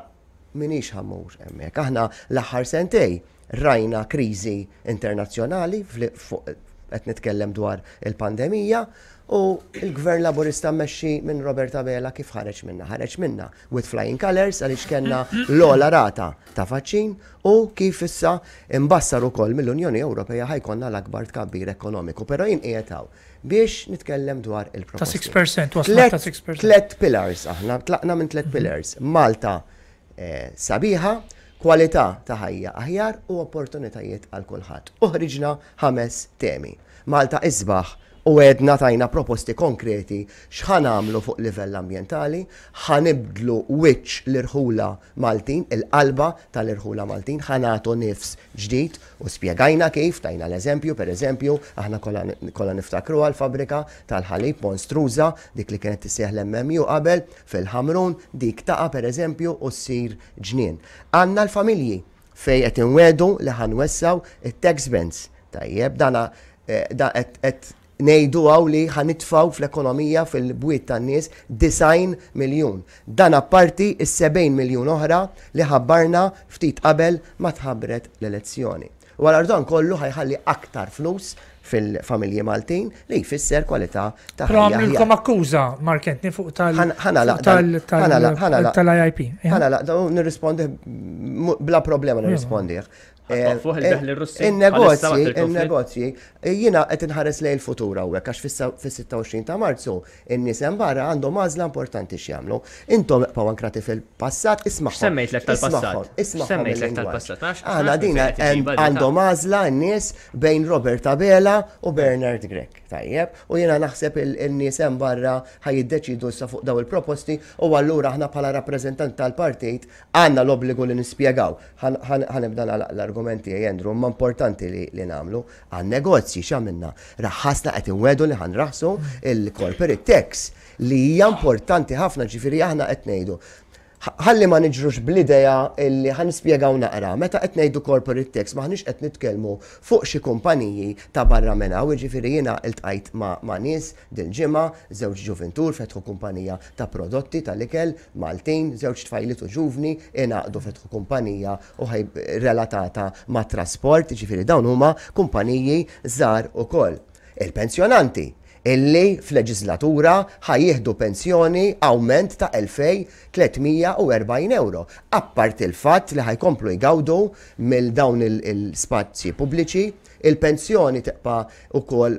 m'iniex ħa mmur hemmhekk. Aħna l-aħħar sentej rajna kriżi internazzjonali fuq qed nitkellem dwar il-pandemija u l-Gvern Laburista mmexxi minn Robert Abela kif ħareġ minnha? Ħareġ minnha with flying colours għaliex kellna l-ogħla rata ta' vaċċin u kif issa imbassar ukoll mill-Unjoni Ewropea ħa jkollna l-akbar tkabbir ekonomiku. Però jien qiegħed hawn biex nitkellem dwar il-proposti. Ta' 6%, waslna ta' 6%. Tlet pillars aħna, tlaqna minn tlet pillars. Malta sabiħa, kwalità ta' ħajja aħjar u opportunitajiet għal kulħadd. U ħriġna ħames temi. Malta isbaħ u għedna tajna proposti konkreti x'ħa nagħmlu fuq livell ambjentali, ħa nibdlu wiċċ l-irħula Maltin, il-qalba tal-irħula Maltin, ħa nagħtu nifs ġdid u spjegajna kif, tajna l-eżempju, per eżempju, aħna kollha niftakruha l-fabbrika tal-ħalib monstruża, dik li kienet tissejjaħ l-MMU qabel, Fil-Ħamrun dik taqa' pereżempju u ssir ġnien. Għandna l-familji fejn qed inwiegħdu li ħa nwessgħu it-tax bands. Tajjeb, dana da qed qed ngħidu hawn li ħa nitfgħu fl-ekonomija fil-bwiet tan-nies 90 miljun. Dan apparti s-70 miljun oħra li ħabbarna ftit qabel ma tħabbret l-elezzjoni. U allura dan kollu ħa jħalli aktar flus fil-familji Maltin li jfisser kwalità ta' Però ħajja aħjar. għamlilkom akkuża, Mark Anthony, fuq tal- Ħa nagħlaq fuq dan, tal- ħa nagħlaq, ħa nagħlaq. tal-IIP. Ħa nagħlaq, dan u nirrispondih bla problema nirrispondih. Ħa twaqqfuh il-bejgħ lir-Russi bħalissa In-negozji, waqt il-konflitt? in-negozji, jiena qed inħares lejn il-futur hawnhekk għax fis-26 ta' Marzu in-nies hemm barra għandhom għażla importanti x'jagħmlu. Intom ibqgħu ankrati fil-passat, ismagħhom. X'semmejtlek tal-passat? Ismagħhom, ismagħhom X'semmejtlek il-lingwaġġ. tal-passat? Ma nafx- ma Aħna nafx din minn fejn qed iġibha din ta' għandhom għażla n-nies bejn Robert Abela u Bernard Grech. Tajjeb, u jiena naħseb il-nies hemm barra ħa jiddeċiedu issa fuq dawn il-proposti u allura aħna bħala rappreżentanti tal-partit għandna l-obbligu li nispjegaw. Ħa nibda nagħlaq l-argument tiegħi Andrew, imma importanti li nagħmlu. Għan-negozji x'għamilna? Raħħasna qed inwegħdu li ħa nraħħsu il-corporate tax li hija importanti ħafna, ġifieri aħna qed ngħidu ħalli ma niġrux bl-idea li ħa nispjegaw naqra, meta qed ngħidu corporate tax m'aħniex qed nitkellmu fuq xi kumpaniji ta' barra minn hawn, jiġifieri jiena ltqajt ma' nies dil-ġimgħa, żewġ ġuvintur fetħu kumpanija ta' prodotti tal-ikel Maltin, żewġ tfajliet u ġuvni ingħaqdu fetħu kumpanija u relatata mat-trasport, jiġifieri dawn huma kumpaniji żgħar ukoll. Il-pensjonanti illi f'leġislatura ħa jieħdu pensjoni awment ta' 2,340 ewro, apparti l-fatt li ħa jkomplu jgawdu mill dawn il-spazji pubbliċi, il-pensjoni tibqa' ukoll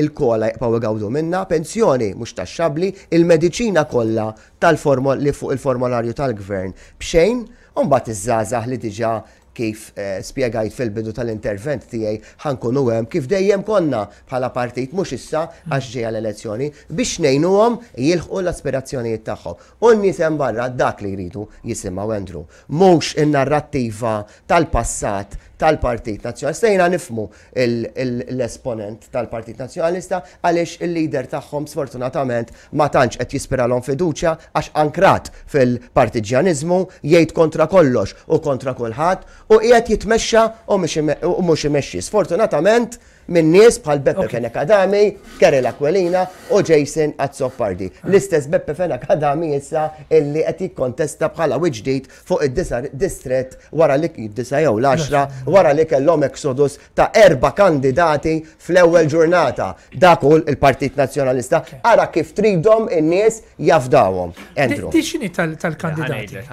il-kola jibqgħu jgawdu minnha, pensjoni mhux taxxabbli, il-mediċina kollha tal-formol li fuq il-formolarju tal-gvern b'xejn, u mbagħad iż-żgħażagħ li diġà kif spjegajt fil-bidu tal-intervent tiegħi ħa nkunu hemm kif dejjem konna bħala partit mhux issa għax ġejja l-elezzjoni biex ngħinuhom jilħqu l-aspirazzjonijiet tagħhom. U n-nies hemm barra dak li jridu jisimgħu Andrew, mhux in-narrattiva tal-passat tal-Partit Nazzjonalista. Jiena nifhmu l-esponent tal-Partit Nazzjonalista għaliex il-leader tagħhom sfortunatament ma tantx qed jispiralhom fiduċja għax ankrat fil-partiġġjaniżmu, jgħid kontra kollox u kontra kulħadd u qiegħed jitmexxa u mhux imexxi. Sfortunatament minn nies bħal Beppe Fenech Adami, Karel Aquilina u Jason Azzopardi. L-istess Beppe Fenech Adami issa illi qed jikkontesta bħala wiċċ ġdid fuq id-disa' distrett wara li id-disa' jew l-għaxra wara li kellhom exodus ta' erba' kandidati fl-ewwel ġurnata. Dak hu l-Partit Nazzjonalista. Ara kif tridhom in-nies jafdawhom. Andrew. Di x'inhi tal-kandidati?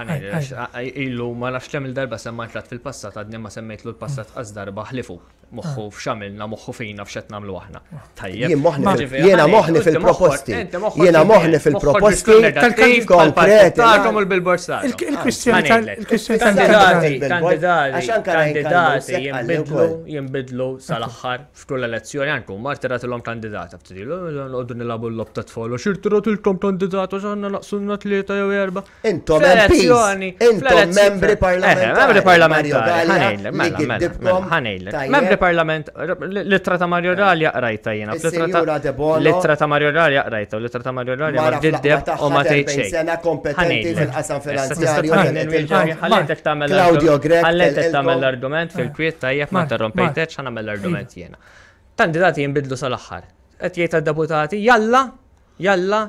Ilu ma nafx kemm il-darba semmajt fil-passat għadni ma semmejtlu l-passat qas darba ħlifu. Moħħu f'x'għamilna, moħħu fina f'x'qed nagħmlu aħna. Tajjeb. Jiena moħħni fil-proposti. Jiena moħħni fil-proposti konkreti. Tagħkom u l-billboards tagħkom. Il-kwistjoni tal-kwistjoni kandidati, kandidati jinbidlu, jinbidlu sal-aħħar f'kull elezzjoni anke huma rtiratilhom kandidata ftit ilu noqogħdu nilagħbu l-logħob tat-tfal u x'irtiratilkom kandidata x'għandna naqsulna tlieta jew erba'. Intom MPs, intom membri parlamentari. Membri parlamentari, ħanejlek, mela, mela, mela, ħanejlek. Membri parlament, l-ittra ta' Mario Gallia qrajta jiena. L-ittra ta' Mario Gallia qrajta, l-ittra ta' Mario Gallia ma tgiddeb u ma tgħid xejn. Sena kompetenti fil-qasam finanzjarju. Ħallejtek tagħmel Claudio Grech. Ħallejtek tagħmel l-argument fil-kwiet tajjeb ma interrompejtekx ħa nagħmel l-argument jiena. Kandidati jinbidlu sal-aħħar. Qed jgħid għad-deputati, jalla, Jalla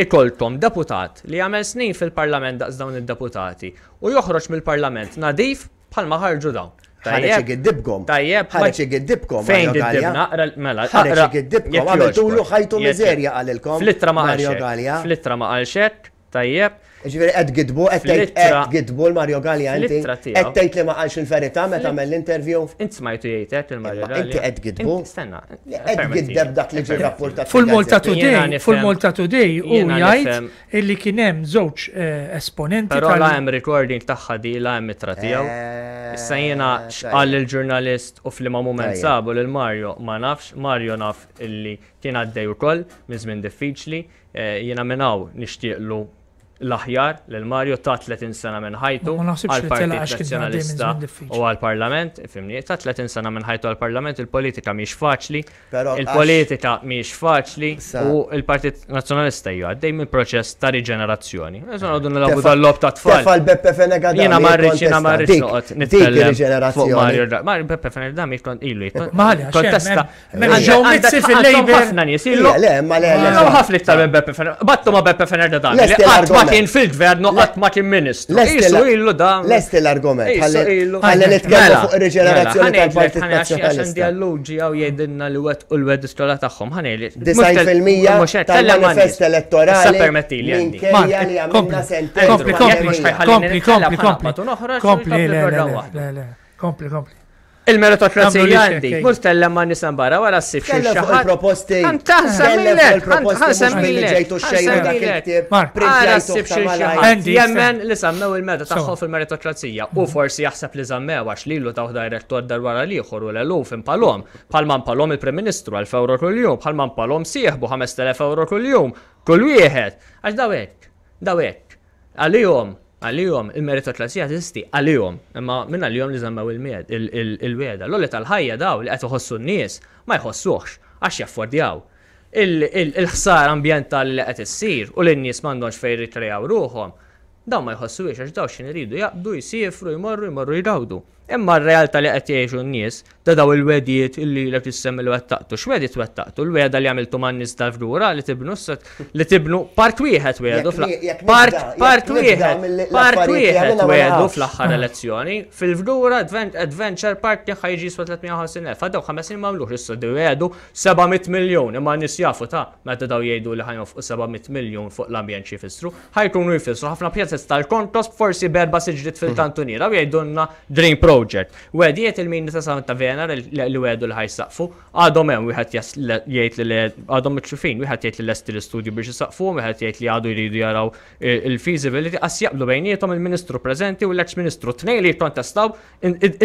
ikollkom deputat li jagħmel snin fil-Parlament daqs dawn id-deputati u joħroġ mill-Parlament nadif bħalma ħarġu dawn. Ħareġ igiddibkom. Tajjeb. Ħareġ igiddibkom. Fejn giddibna? Mela, ħareġ igiddibkom. Għamiltulu ħajtu miżerja qalilkom. Fl-ittra ma qalx hekk. Fl-ittra ma qalx hekk. Tajjeb. Ġifieri qed tgiddbu, qed tgħid qed tgiddbu l-Mario Galea inti. Qed tgħid li ma qalx il-verità meta għamel l-interview. Int smajtu jgħid hekk il-Mario Galea. Inti qed tgiddbu. Stenna. Qed tgiddeb dak li ġie rrapportat. Fil-Malta Today, fil-Malta Today hu jgħid illi kien hemm żewġ esponenti. Però la hemm recording tagħha di la hemm ittra tiegħu. Issa jiena x'qal il-ġurnalist u f'liema mument sabu lil Mario ma nafx, Mario naf illi kien għaddej ukoll minn żmien diffiċli. Jiena minn hawn nixtieqlu l-aħjar lil Mario ta 30 sena minn ħajtu għall-Partit Nazzjonalista u għall-Parlament, ifhimni, ta 30 sena minn ħajtu għall-Parlament, il-politika mhix faċli, il-politika mhix faċli u l-Partit Nazzjonalista hija għaddej minn proċess ta' riġenerazzjoni. Issa noqogħdu nilagħbu dal-logħob ta' tfal. Tefal Beppe Fenech Adami. Jiena ma rridx jiena ma rridx noqgħod nitkellem fuq Mario Mario Beppe Fenech Adami ilu jikkontesta Mela ġew mizzi fil-Labour. Ħafna nies ilu. Le, ma le, le. Ħafna iktar minn Beppe Fenech. Battu ma Beppe Fenech da dan. Qatt ma kien fil-gvern, qatt ma kien ministru. Isu ilu da. Lesti l-argument. Ħalli nitkellmu mela, fuq ir-riġenerazzjoni mela, tal-Partit Nazzjonalista. Għandi alluġi għaw jgħidilna li wet u l-wed iskola tagħhom. Ħanejli. 90% tal-manifest elettorali. Permetti li għandi. Kompli, kompli, kompli, kompli, kompli. Kompli, le, le, le. Kompli, kompli. Il-meritokrazija għandi. Mur tkellem ma' nies hemm barra wara ssib xi Tkellem fuq il-proposti. Tkellem fuq il-proposti mhux billi ġejtu xejru dak il-ktieb. Ara ssib xi ħadd jemmen li żammew il-meta tagħhom fil-meritokrazija u forsi jaħseb li żammew għax lilu tawh direttor dar wara l-ieħor u l-eluf impalhom. Bħalma mpalhom il-Prim Ministru 1000 ewro kuljum, bħalma mpalhom sieħbu 5000 ewro kuljum, kull wieħed. Għax daw hekk, daw hekk. Għalihom, għalihom, il-meritokrazija teżisti għalihom, imma minn għalihom li żammew il-wegħda. L-għoli tal-ħajja dawn li qed iħossu n-nies ma jħossuhx għax jaffordjaw. Il-ħsara ambjentali li qed issir u li n-nies m'għandhomx fejn jirrikreaw ruħhom. Dawn ma jħossuhiex għax dawn x'ħin iridu jaqbdu, jsiefru, jmorru, jmorru jgawdu. Imma r-realtà li qed jgħixu n-nies ta' dawn il-wegħdiet illi ilek issemmi li wettaqtu, x'wegħdiet wettaqtu? Il-wegħda li għamiltu man-nies tal-Fgura li tibnu li tibnu part wieħed wegħdu part part wieħed part wieħed wegħdu fl-aħħar elezzjoni fil-Fgura Adventure Park kien ħa jiġi jiswa 350,000. Għaddew ħames snin m'għamluhx issa wegħdu 700 miljun imma n-nies jafu ta' meta dawn jgħidu li ħa jonfqu 700 miljun fuq l-ambjent xi jfissru. Ħa jkunu jfissru ħafna pjazez tal-kontos forsi b'erba' siġriet fil-kantuniera u jgħidulna Dream Project. Wegħdiet il-mini ta' Santa Venera li wegħdu li ħa jsaqqfu, għadhom hemm wieħed jgħid li għadhom mikxufin, wieħed jgħid li lesti l-istudju biex isaqqfuhom, wieħed jgħid li għadu jridu jaraw il-feasibility, qas jaqblu bejniethom il-Ministru preżenti u l-eks Ministru, tnejn li jikkontestaw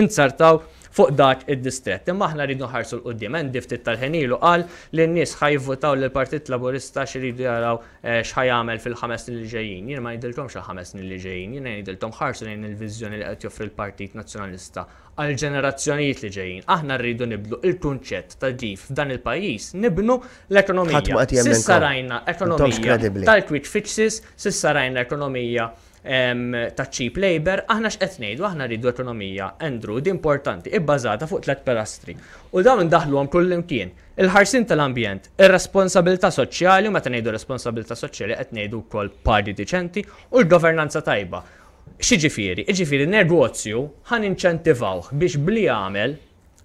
inzertaw fuq dak id-distrett. Imma aħna rridu nħarsu 'l quddiem. Andy ftit tal-ħin ilu qal li n-nies ħa jivvutaw lill-Partit Laburista għax iridu jaraw x'ħa jagħmel fil-ħames snin li ġejjin. Jiena ma ngħidilkomx għall-ħames snin li ġejjin, jiena ngħidilkom ħarsu lejn il-viżjoni li qed joffri l-Partit Nazzjonalista għall-ġenerazzjonijiet li ġejjin. Aħna rridu nibdlu il-kunċett ta' kif f'dan il-pajjiż nibnu l-ekonomija. S'issa rajna ekonomija tal-quick fixes, s'issa rajna ekonomija ta' cheap labour, aħna x'qed ngħidu? Aħna rridu ekonomija, Andrew, di importanti, ibbażata fuq tlett pilastri. U dawn indaħħluhom kullimkien. Il-ħarsien tal-ambjent, ir-responsabilità soċjali, u meta ngħidu responsabilità soċjali qed ngħidu wkoll pagi diċenti, u l-governanza tajba. X'jiġifieri? Jiġifieri negozju ħa ninċentivawh biex b'li jagħmel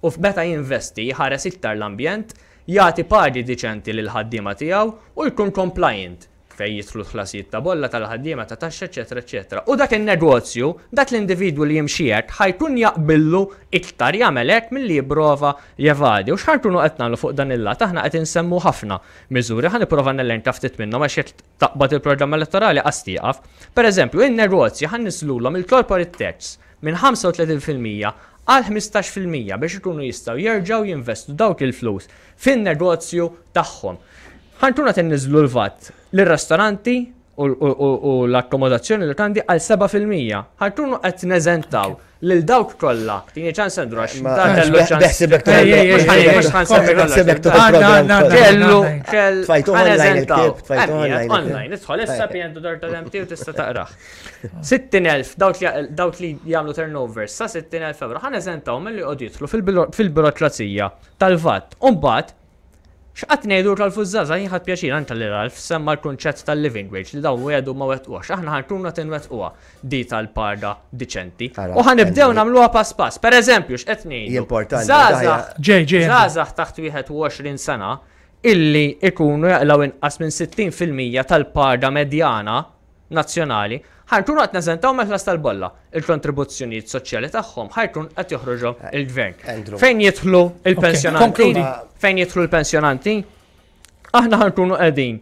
u meta jinvesti jħares iktar l-ambjent, jagħti pagi diċenti lill-ħaddiema tiegħu u jkun compliant. fejn jidħlu l-ħlasijiet ta' bolla tal-ħaddiema, ta' taxxa, eċċetera eċċetera. U dak in-negozju, dak l-individwu li jimxi hekk ħa jkun jaqbillu iktar jagħmel hekk milli jipprova jevadi. U x'ħa nkunu qed nagħmlu fuq dan il-lat? Aħna qed insemmu ħafna miżuri, ħa nipprova nelenka ftit minnhom għax jekk taqbad il-programm elettorali qas tieqaf. Pereżempju, in-negozji ħa nniżżlulhom il-corporate tax minn 35% għal 15% biex ikunu jistgħu jerġgħu jinvestu dawk il-flus fin-negozju tagħhom. Ħa nkunu qed inniżżlu l-VAT lir-ristoranti u l-akkomodazzjoni lukandi għal 7%. Ħa nkunu qed neżentaw lil dawk kollha. Tini ċans Andrew għax da kellu ċans. Kellu kell neżentaw. Online, idħol issa pn.mt u tista' taqrah. 60,000 dawk li jagħmlu turnover sa 60,000 euro ħa neżentaw milli joqogħdu jidħlu fil-burokrazija tal-VAT. U mbagħad X'qatt ngħidu Ralph u ż-żgħażagħ jien ħadt pjaċir anke li Ralph semma l-kunċett tal-living wage li dawn wiegħdu ma wettquhx. Aħna ħa nkunu qed inwettquha di tal-paga diċenti. U ħa nibdew nagħmluha pass pass. Per eżempju, x'qed ngħidu? Importanti. Ġej, ġej. Żgħażagħ taħt 21 sena illi ikunu jaqilgħu inqas minn 60% tal-paga medjana nazzjonali, ħa nkunu qed neżentaw mill-ħlas tal-bolla. Il-kontribuzzjonijiet soċjali tagħhom ħa jkun qed joħroġhom il-gvern. Fejn jidħlu il-pensjonanti? Fejn jidħlu l-pensjonanti? Aħna ħa nkunu qegħdin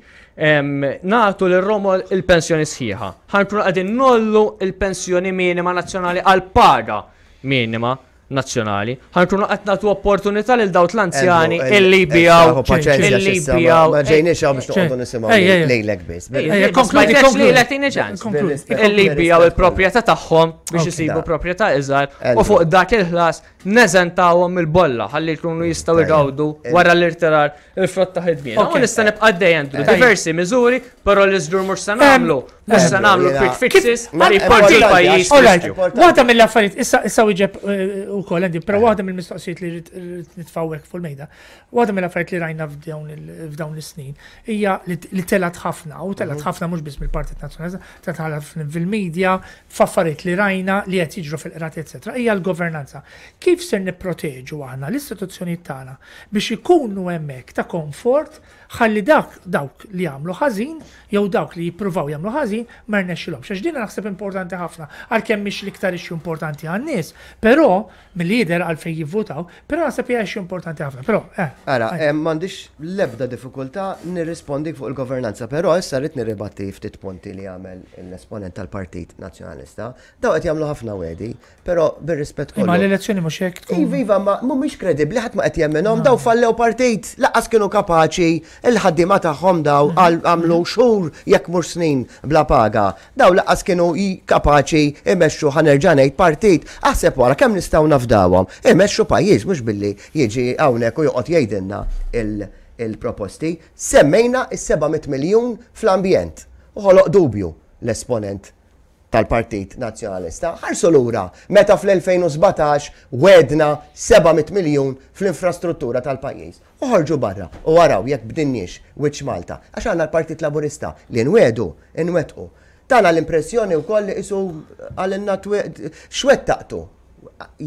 nagħtu lir-romol il-pensjoni sħiħa. Ħa nkunu qegħdin nollu il-pensjoni minima nazzjonali għal paga minima nazzjonali. Ħa nkunu qed nagħtu opportunità lil dawk l-anzjani illi jbijaw. Illi jbijaw. Ma ġejniex hawn biex noqogħdu nisimgħu lejlek biss. Konkludi, konkludi. Tini ċans. Illi jbijaw il-proprjetà tagħhom biex isibu proprjetà iżgħar u fuq dak il-ħlas neżentawhom mill-bolla ħalli jkunu jistgħu jgawdu wara l-irtirar il-frott ta' ħidmien. U nista' nibqa' għaddej Andrew, diversi miżuri, però li żgur mhux se nagħmlu, mhux se nagħmlu quick fixes li jpoġġu l-pajjiż. Waħda mill-affarijiet, issa issa wieġeb eh, ukoll Andy, però waħda mill-mistoqsijiet li rrid nitfawek fuq il-mejda, waħda mill-affarijiet li rajna f'dawn is-snin hija li telgħet ħafna, u telgħet mhm. ħafna mhux biss mill-Partit Nazzjonalista, telgħet ħafna fil-medja, f'affarijiet li rajna li qed jiġru fil-qrati, eċetera, hija l-governanza. Kif ser nipproteġu aħna l-istituzzjonijiet tagħna biex ikunu hemmhekk ta' komfort ħalli dak dawk li jagħmlu ħażin jew dawk li jippruvaw jagħmlu ħażin ma rnexxilhomx. Għax din naħseb importanti ħafna għalkemm mhix l-iktar issue importanti għan-nies, però milli jidher għalfejn jivvutaw, però naħseb hija issue importanti ħafna. Però, eh. Ara, eh, m'għandix l-ebda diffikultà nirrispondik fuq il-governanza, però issa rrid nirribatti ftit punti li għamel l-esponent tal-Partit Nazzjonalista. Daw qed jagħmlu ħafna wedi, Però bir-rispett kollu. Imma l-elezzjoni mhux hekk tkun. Iva, iva, ma mhumiex kredibbli ħadd ma qed jemminhom, daw fallew partit, laqas kienu kapaċi il-ħaddiema tagħhom daw għamlu xhur jekk mhux snin bla paga. Daw laqas kienu kapaċi imexxu ħa nerġa' ngħid partit. Aħseb wara kemm nistgħu nafdawhom. Imexxu pajjiż mhux billi jiġi hawnhekk u joqgħod jgħidilna il-proposti. Semmejna is-700 miljun fl-ambjent. U ħoloq dubju l-esponent. tal-Partit Nazzjonalista. Ħarsu lura meta fl-2017 wegħdna 700 miljun fl-infrastruttura tal-pajjiż. Oħorġu barra u araw jekk bdinniex wiċċ Malta. Għax għandna l-Partit Laburista li nwiegħdu, inwettqu. Tana l-impressjoni wkoll li qisu qalilna x'wettaqtu.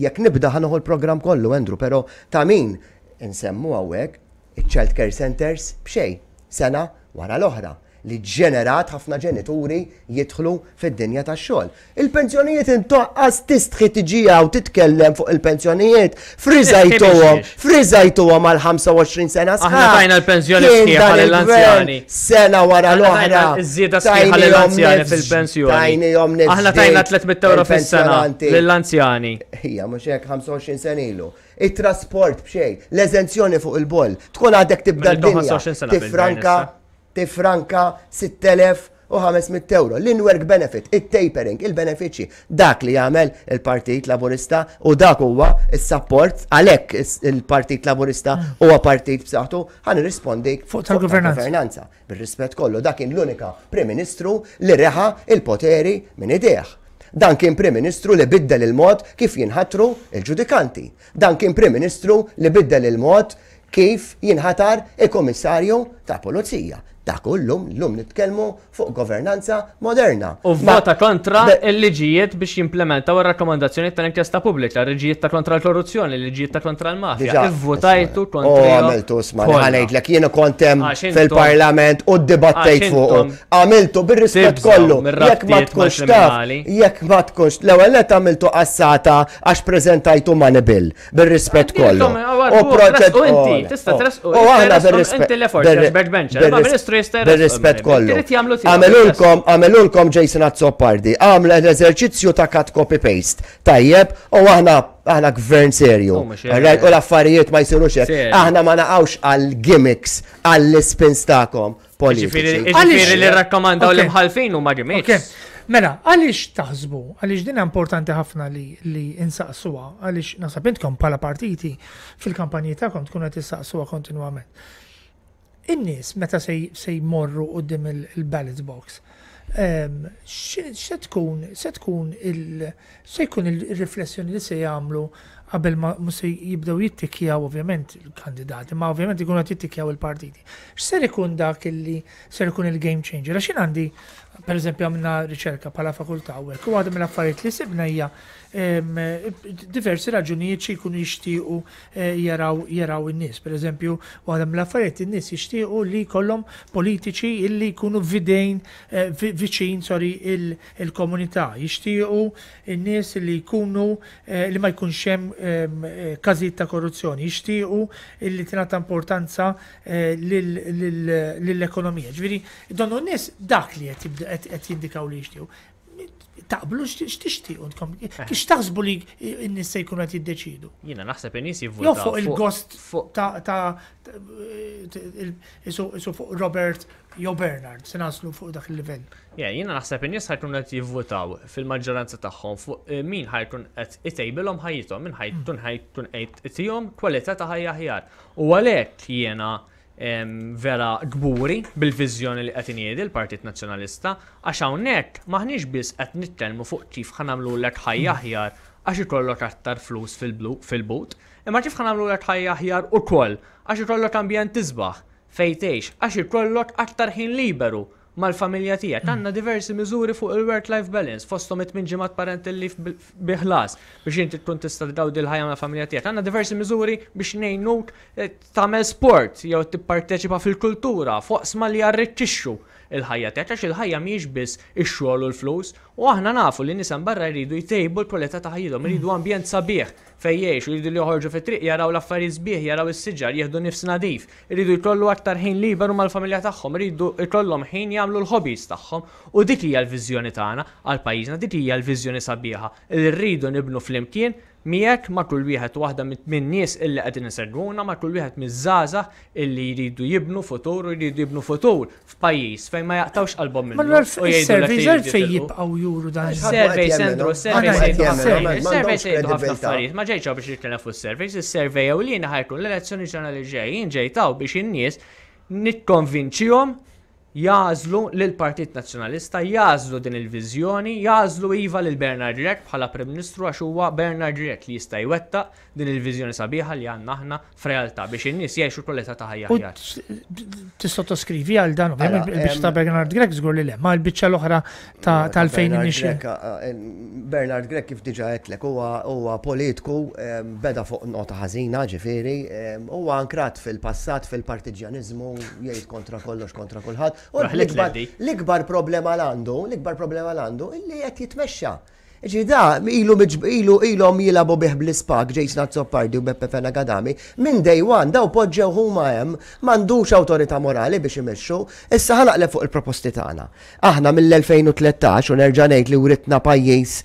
Jekk nibda ħa nieħu l-programm kollu, Andrew, però ta' min insemmu hawnhekk iċ-child care centers b'xejn, sena wara l-oħra. li ġġenerat ħafna ġenituri jidħlu fid-dinja tax-xogħol. Il-pensjonijiet intoqqas tistħi tiġi hawn titkellem fuq il-pensjonijiet. Friżajtuhom, friżajtuhom għal 25 sena sħaħ. Aħna tajna l-pensjoni sħiħa lill-anzjani. Sena wara l-oħra. Iż-żieda sħiħa lill-anzjani fil-pensjoni. Tajnihom nifs. Aħna tajna 300 euro fis-sena lill-anzjani. Hija mhux hekk 25 sena ilu. It-trasport b'xejn, l-eżenzjoni fuq il-boll, tkun għadek tibda d-dinja. Tifranka Tiffranka 6,500 ewro. L-in-work benefit, it-tapering, il-benefiċċji. Dak li jagħmel il-Partit Laburista u dak huwa s-sapport għalhekk il-Partit Laburista huwa partit b'saħħtu. Ħa nirrispondi fuq tal-governanza. Bir-rispett kollu, dak kien l-unika Prim Ministru li reħa il-poteri minn idejh. Dan kien Prim Ministru li biddel il-mod kif jinħatru il-ġudikanti. Dan kien Prim Ministru li biddel il-mod kif jinħatar il-Kummissarju tal-Pulizija. Dak hu llum, llum nitkellmu fuq governanza moderna. U vvota kontra l-liġijiet biex jimplementaw ir-rakkomandazzjonijiet tal-inkjesta pubblika, liġijiet ta' kontra l-korruzzjoni, liġijiet ta' kontra l-mafja. Ivvutajtu kontra. U għamiltu sma, ħanejdlek jien kont hemm fil-Parlament u ddibattejt fuq. Għamiltu bir-rispett kollu. Jekk ma tkunx taf, jekk ma tkunx, l-ewwel net għamiltu qassata għax preżentajtu money bill. Bir-rispett kollu. U proċed. U inti, tista' tresqu. U aħna bir-rispett. Inti l-effort, backbencher. Ma ministru jista' Bir-rispett kollu. Għamilulkom, għamilulkom Jason Azzopardi, għamel l-eżerċizzju ta' cut copy paste. Tajjeb, u aħna aħna gvern serju. U l-affarijiet ma jsirux hekk. Aħna ma naqgħux għal gimmicks, għall spins tagħkom politiċi. Ġifieri li rrakkomandaw l-imħalfin huma gimmicks. Mela, għaliex taħsbu, għaliex din importanti ħafna li, li insaqsuha, għaliex naħseb intkom bħala partiti fil-kampanji tagħkom tkunu qed issaqsuha kontinwament. In-nies meta se jmorru quddiem il-ballot box, ehm, se tkun se tkun il se jkun il-riflessjoni li se jagħmlu qabel ma se jibdew jittikjaw ovvjament il-kandidati, ma ovvjament ikunu qed jittikjaw il-partiti. X'ser ikun dak illi ser ikun il-game changer? Għax jien għandi Per eżempju, għamilna riċerka bħala fakultà u hekk, u waħda mill-affarijiet li sibna hija diversi raġunijiet xi jkunu jixtiequ eh, jaraw jaraw in-nies. Per eżempju, waħda mill-affarijiet in-nies jixtiequ li jkollhom politiċi illi jkunu videjn eh, viċin sorry il-komunità, jixtiequ in-nies li jkunu eh, li ma jkunx hemm każijiet ta' korruzzjoni, jixtiequ illi tingħata importanza lill-ekonomija. Ġifieri, donnu n-nies dak li qed jindikaw li jixtiequ. Taqblu x'tixtiequ intkom? Eh. Kif taħsbu li n-nies se jkunu qed jiddeċidu? Jiena naħseb in-nies jivvutaw. Jew fuq il-gost ta' isu fuq Robert jew Bernard, se naslu fuq dak il-livell. Ja, jiena naħseb in-nies ħajkunu qed jivvutaw fil-maġġoranza tagħhom fuq eh, min ħajkun qed itejbilhom ħajjithom, min ħajkun ħajkun qed itihom kwalità ta' ħajja aħjar. U għalhekk jiena vera kburi bil-viżjoni li qed iniedi l-Partit Nazzjonalista għax hawnhekk m'aħniex biss qed nitkellmu fuq kif ħa nagħmlulek ħajja aħjar għax ikollok aktar flus fil-but, imma kif ħa nagħmlulek ħajja aħjar ukoll għax ikollok ambjent isbaħ fejn tgħix, għax ikollok aktar ħin liberu mal-familja tiegħek. Għandna diversi miżuri fuq il-work-life balance, fosthom it-tmien ġimgħat parental leave bi ħlas biex inti tkun tista' tgawdi l-ħajja mal-familja tiegħek. Għandna diversi miżuri biex ngħinuk eh, tagħmel sport jew tipparteċipa fil-kultura fuq li jarrikkixxu il-ħajja tiegħek għax il-ħajja mhijiex biss ix-xogħol u l-flus u aħna nafu li nies barra jridu jtejbu l-kwalità ta' ħajjithom, jridu ambjent sabiħ fejn jgħixu, jridu li joħorġu fit-triq jaraw l-affarijiet sbieħ, jaraw is-siġar, jieħdu nifs nadif. Iridu jkollu aktar ħin liberu mal-familja tagħhom, iridu jkollhom ħin jagħmlu l-hobbies tagħhom u dik hija l-viżjoni tagħna għal pajjiżna, dik hija l-viżjoni sabiħa li rridu nibnu flimkien miegħek ma' kull wieħed u waħda min-nies illi qegħdin isegwuna, ma' kull wieħed miż-żgħażagħ illi jridu jibnu futur u jridu jibnu futur f'pajjiż fejn ma jaqtgħux qalbhom minnu. Manuel, is-surveys għalfejn jibqgħu juru dan. Surveys, Andrew, surveys jgħidu surveys jgħidu ħafna affarijiet. Ma ġejtx biex nitkellem fuq surveys, is-survey ewlieni ħajkun l-elezzjoni ġenerali ġej, jien ġejt hawn biex in-nies nikkonvinċihom jagħżlu lill-Partit Nazzjonalista, jagħżlu din il-viżjoni, jagħżlu iva lil Bernard Grech bħala Prim Ministru għax huwa Bernard Grech li jista' jwettaq din il-viżjoni sabiħa li għandna aħna f'realtà biex in-nies jgħixu kwalità ta' ħajja aħjar. Tissottoskrivi għal dan, ovvjament il-biċċa ta' Bernard Grech żgur li le, ma l-biċċa l-oħra tal-fejn inixxi. Bernard Grech kif diġà għedtlek huwa politku beda fuq nota ħażina ġifieri, huwa ankrat fil-passat fil-partiġjaniżmu jgħid kontra kollox kontra kulħadd. U l-ikbar problema l-għandu, l-ikbar problema l-għandu illi qed jitmexxa. Ġi da, ilu ilu ilhom jilagħbu bih bl-ispak Jason Azzopardi u Beppe Fenech Adami, minn day one daw poġġew huma hemm, m'għandux awtorità morali biex imexxu. Issa ħa naqleb fuq il-proposti tagħna. Aħna mill-2013 u nerġa' ngħid li writna pajjiż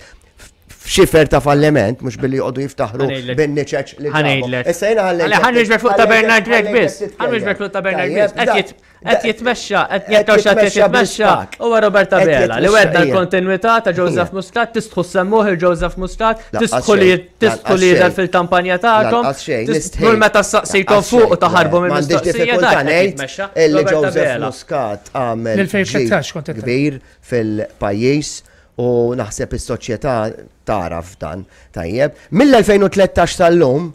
f'xifer ta' falliment, mhux billi joqogħdu jiftaħru bin-niċeċ li ġabu. Issa jiena ħallejt. Ħa niġbed fuq ta' Bernard Grech biss. Ħa niġbed fuq ta' Bernard Grech. Qed jitmexxa, qed jekk qed jitmexxa huwa Robert Abela li wedda l-kontinwità ta' Joseph Muscat, tistħu semmuh il-Joseph Muscat, tistħu li tistħu li jidher fil-kampanja tagħkom. Kull meta saqsejtom fuq u taħarbu minn mistoqsija ta' ngħid illi Joseph Muscat għamel kbir fil-pajjiż u naħseb is-soċjetà tagħraf dan tajjeb. Mill-2013 sal-lum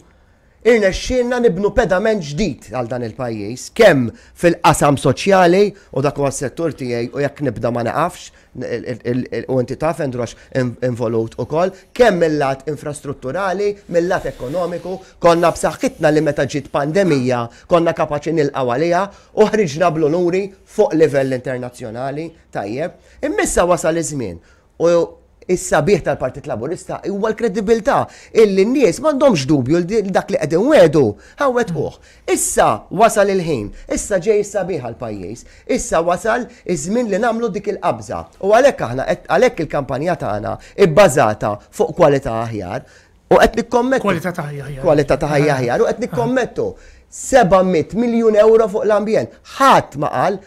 Irnexxielna nibnu pedament ġdid għal dan il-pajjiż, kemm fil-qasam soċjali, u dak huwa s-settur tiegħi u jekk nibda ma neqafx, u inti taf Andrew għax involut ukoll, kemm mil-lat infrastrutturali, mil-lat ekonomiku, konna b'saħħitna li meta ġiet pandemija konna kapaċi nilqgħu għaliha u ħriġna bl-unuri fuq livell internazzjonali, tajjeb. Imma issa wasal iż-żmien U s-sabiħ tal-Partit Laburista huwa l-kredibilità illi n-nies m'għandhomx dubju li dak li qed inwiegħdu ħa nwettquh. Issa wasal il-ħin, issa ġej is-sabiħ għall-pajjiż, issa wasal iż-żmien li nagħmlu dik il-qabża. U għalhekk aħna qed għalhekk il-kampanja tagħna bbażata fuq kwalità aħjar u qed nikkommettu. Kwalità ta' ħajja aħjar. Kwalità ta' ħajja aħjar u qed nikkommettu 700 miljun ewro fuq l-ambjent. Ħadd ma qal,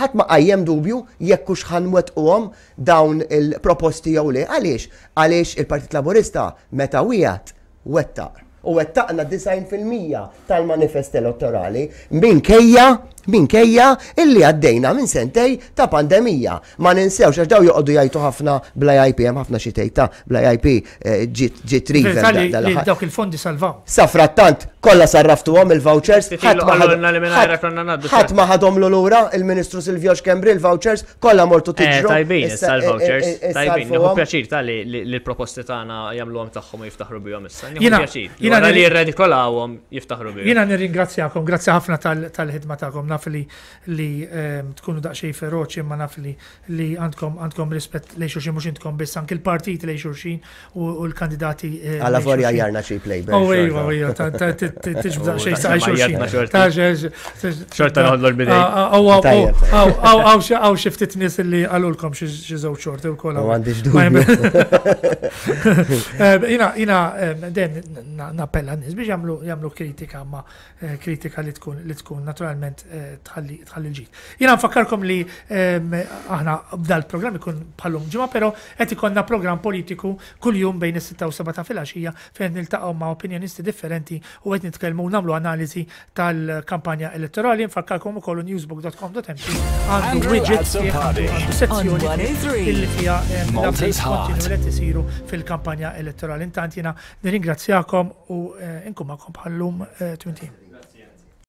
ħadd ma qajjem dubju jekk hux ħa nwettquhom dawn il-proposti jew le. Għaliex? Għaliex il-Partit Laburista meta wiegħed, wettaq. U wettaqna 90% tal-manifest elettorali minkejja minkejja illi għaddejna minn sentej ta' pandemija. Ma ninsewx għax daw joqogħdu jgħidu ħafna bla IP, hemm ħafna xi tgħid ta' bla IP eh, ġiet river. Dawk il-fondi salvaw. Sa frattant kollha sarraftuhom il-vouchers, ħadd ma ħadhom lura il-Ministru Silvio Schembri il-vouchers, Kollha mortu eh, tiġru. Tajbin, issa l-vouchers. Eh, eh, tajbin, nieħu pjaċir ta' li l-proposti tagħna jagħmluhom tagħhom u jiftaħru bihom issa. Nieħu pjaċir. Jiena li jirredikolawhom jiftaħru bihom. Jiena nirringrazzjakom, grazzi ħafna tal-ħidma tagħkom. Naf li li ehm, tkunu daqsxejn feroċi imma naf li li għandkom għandkom rispett lejn xulxin mhux intkom biss anke l-partit lejn xulxin u l-kandidati. Għala vorja jarna xi play. Oh, ejwa, ejwa, tiġbda xejn sa' xulxin. Xorta noħodlu l-bidej. Għaw xi ftit nies li għalulkom xi żewġ xorti wkoll. Għandix dubju. Jina, jina, den nappella n-nies biex jagħmlu kritika ma eh, kritika li tkun li tkun naturalment eh, tħalli l-ġid. Jina nfakkarkom li aħna b'dal-programm ikun bħallum ġimgħa, però qed ikollna programm politiku kuljum bejn is-6 u 7 ta' filgħaxija fejn niltaqgħu ma' opinjonisti differenti u qed nitkellmu u nagħmlu analiżi tal-kampanja elettorali. Nfakkarkom ukoll newsbook.com.mt għandu widget għandu sezzjoni illi fiha l-updates kontinwi li qed isiru fil-kampanja elettorali. Intant jiena nirringrazzjakom u eh, nkun magħkom bħallum eh, twintin.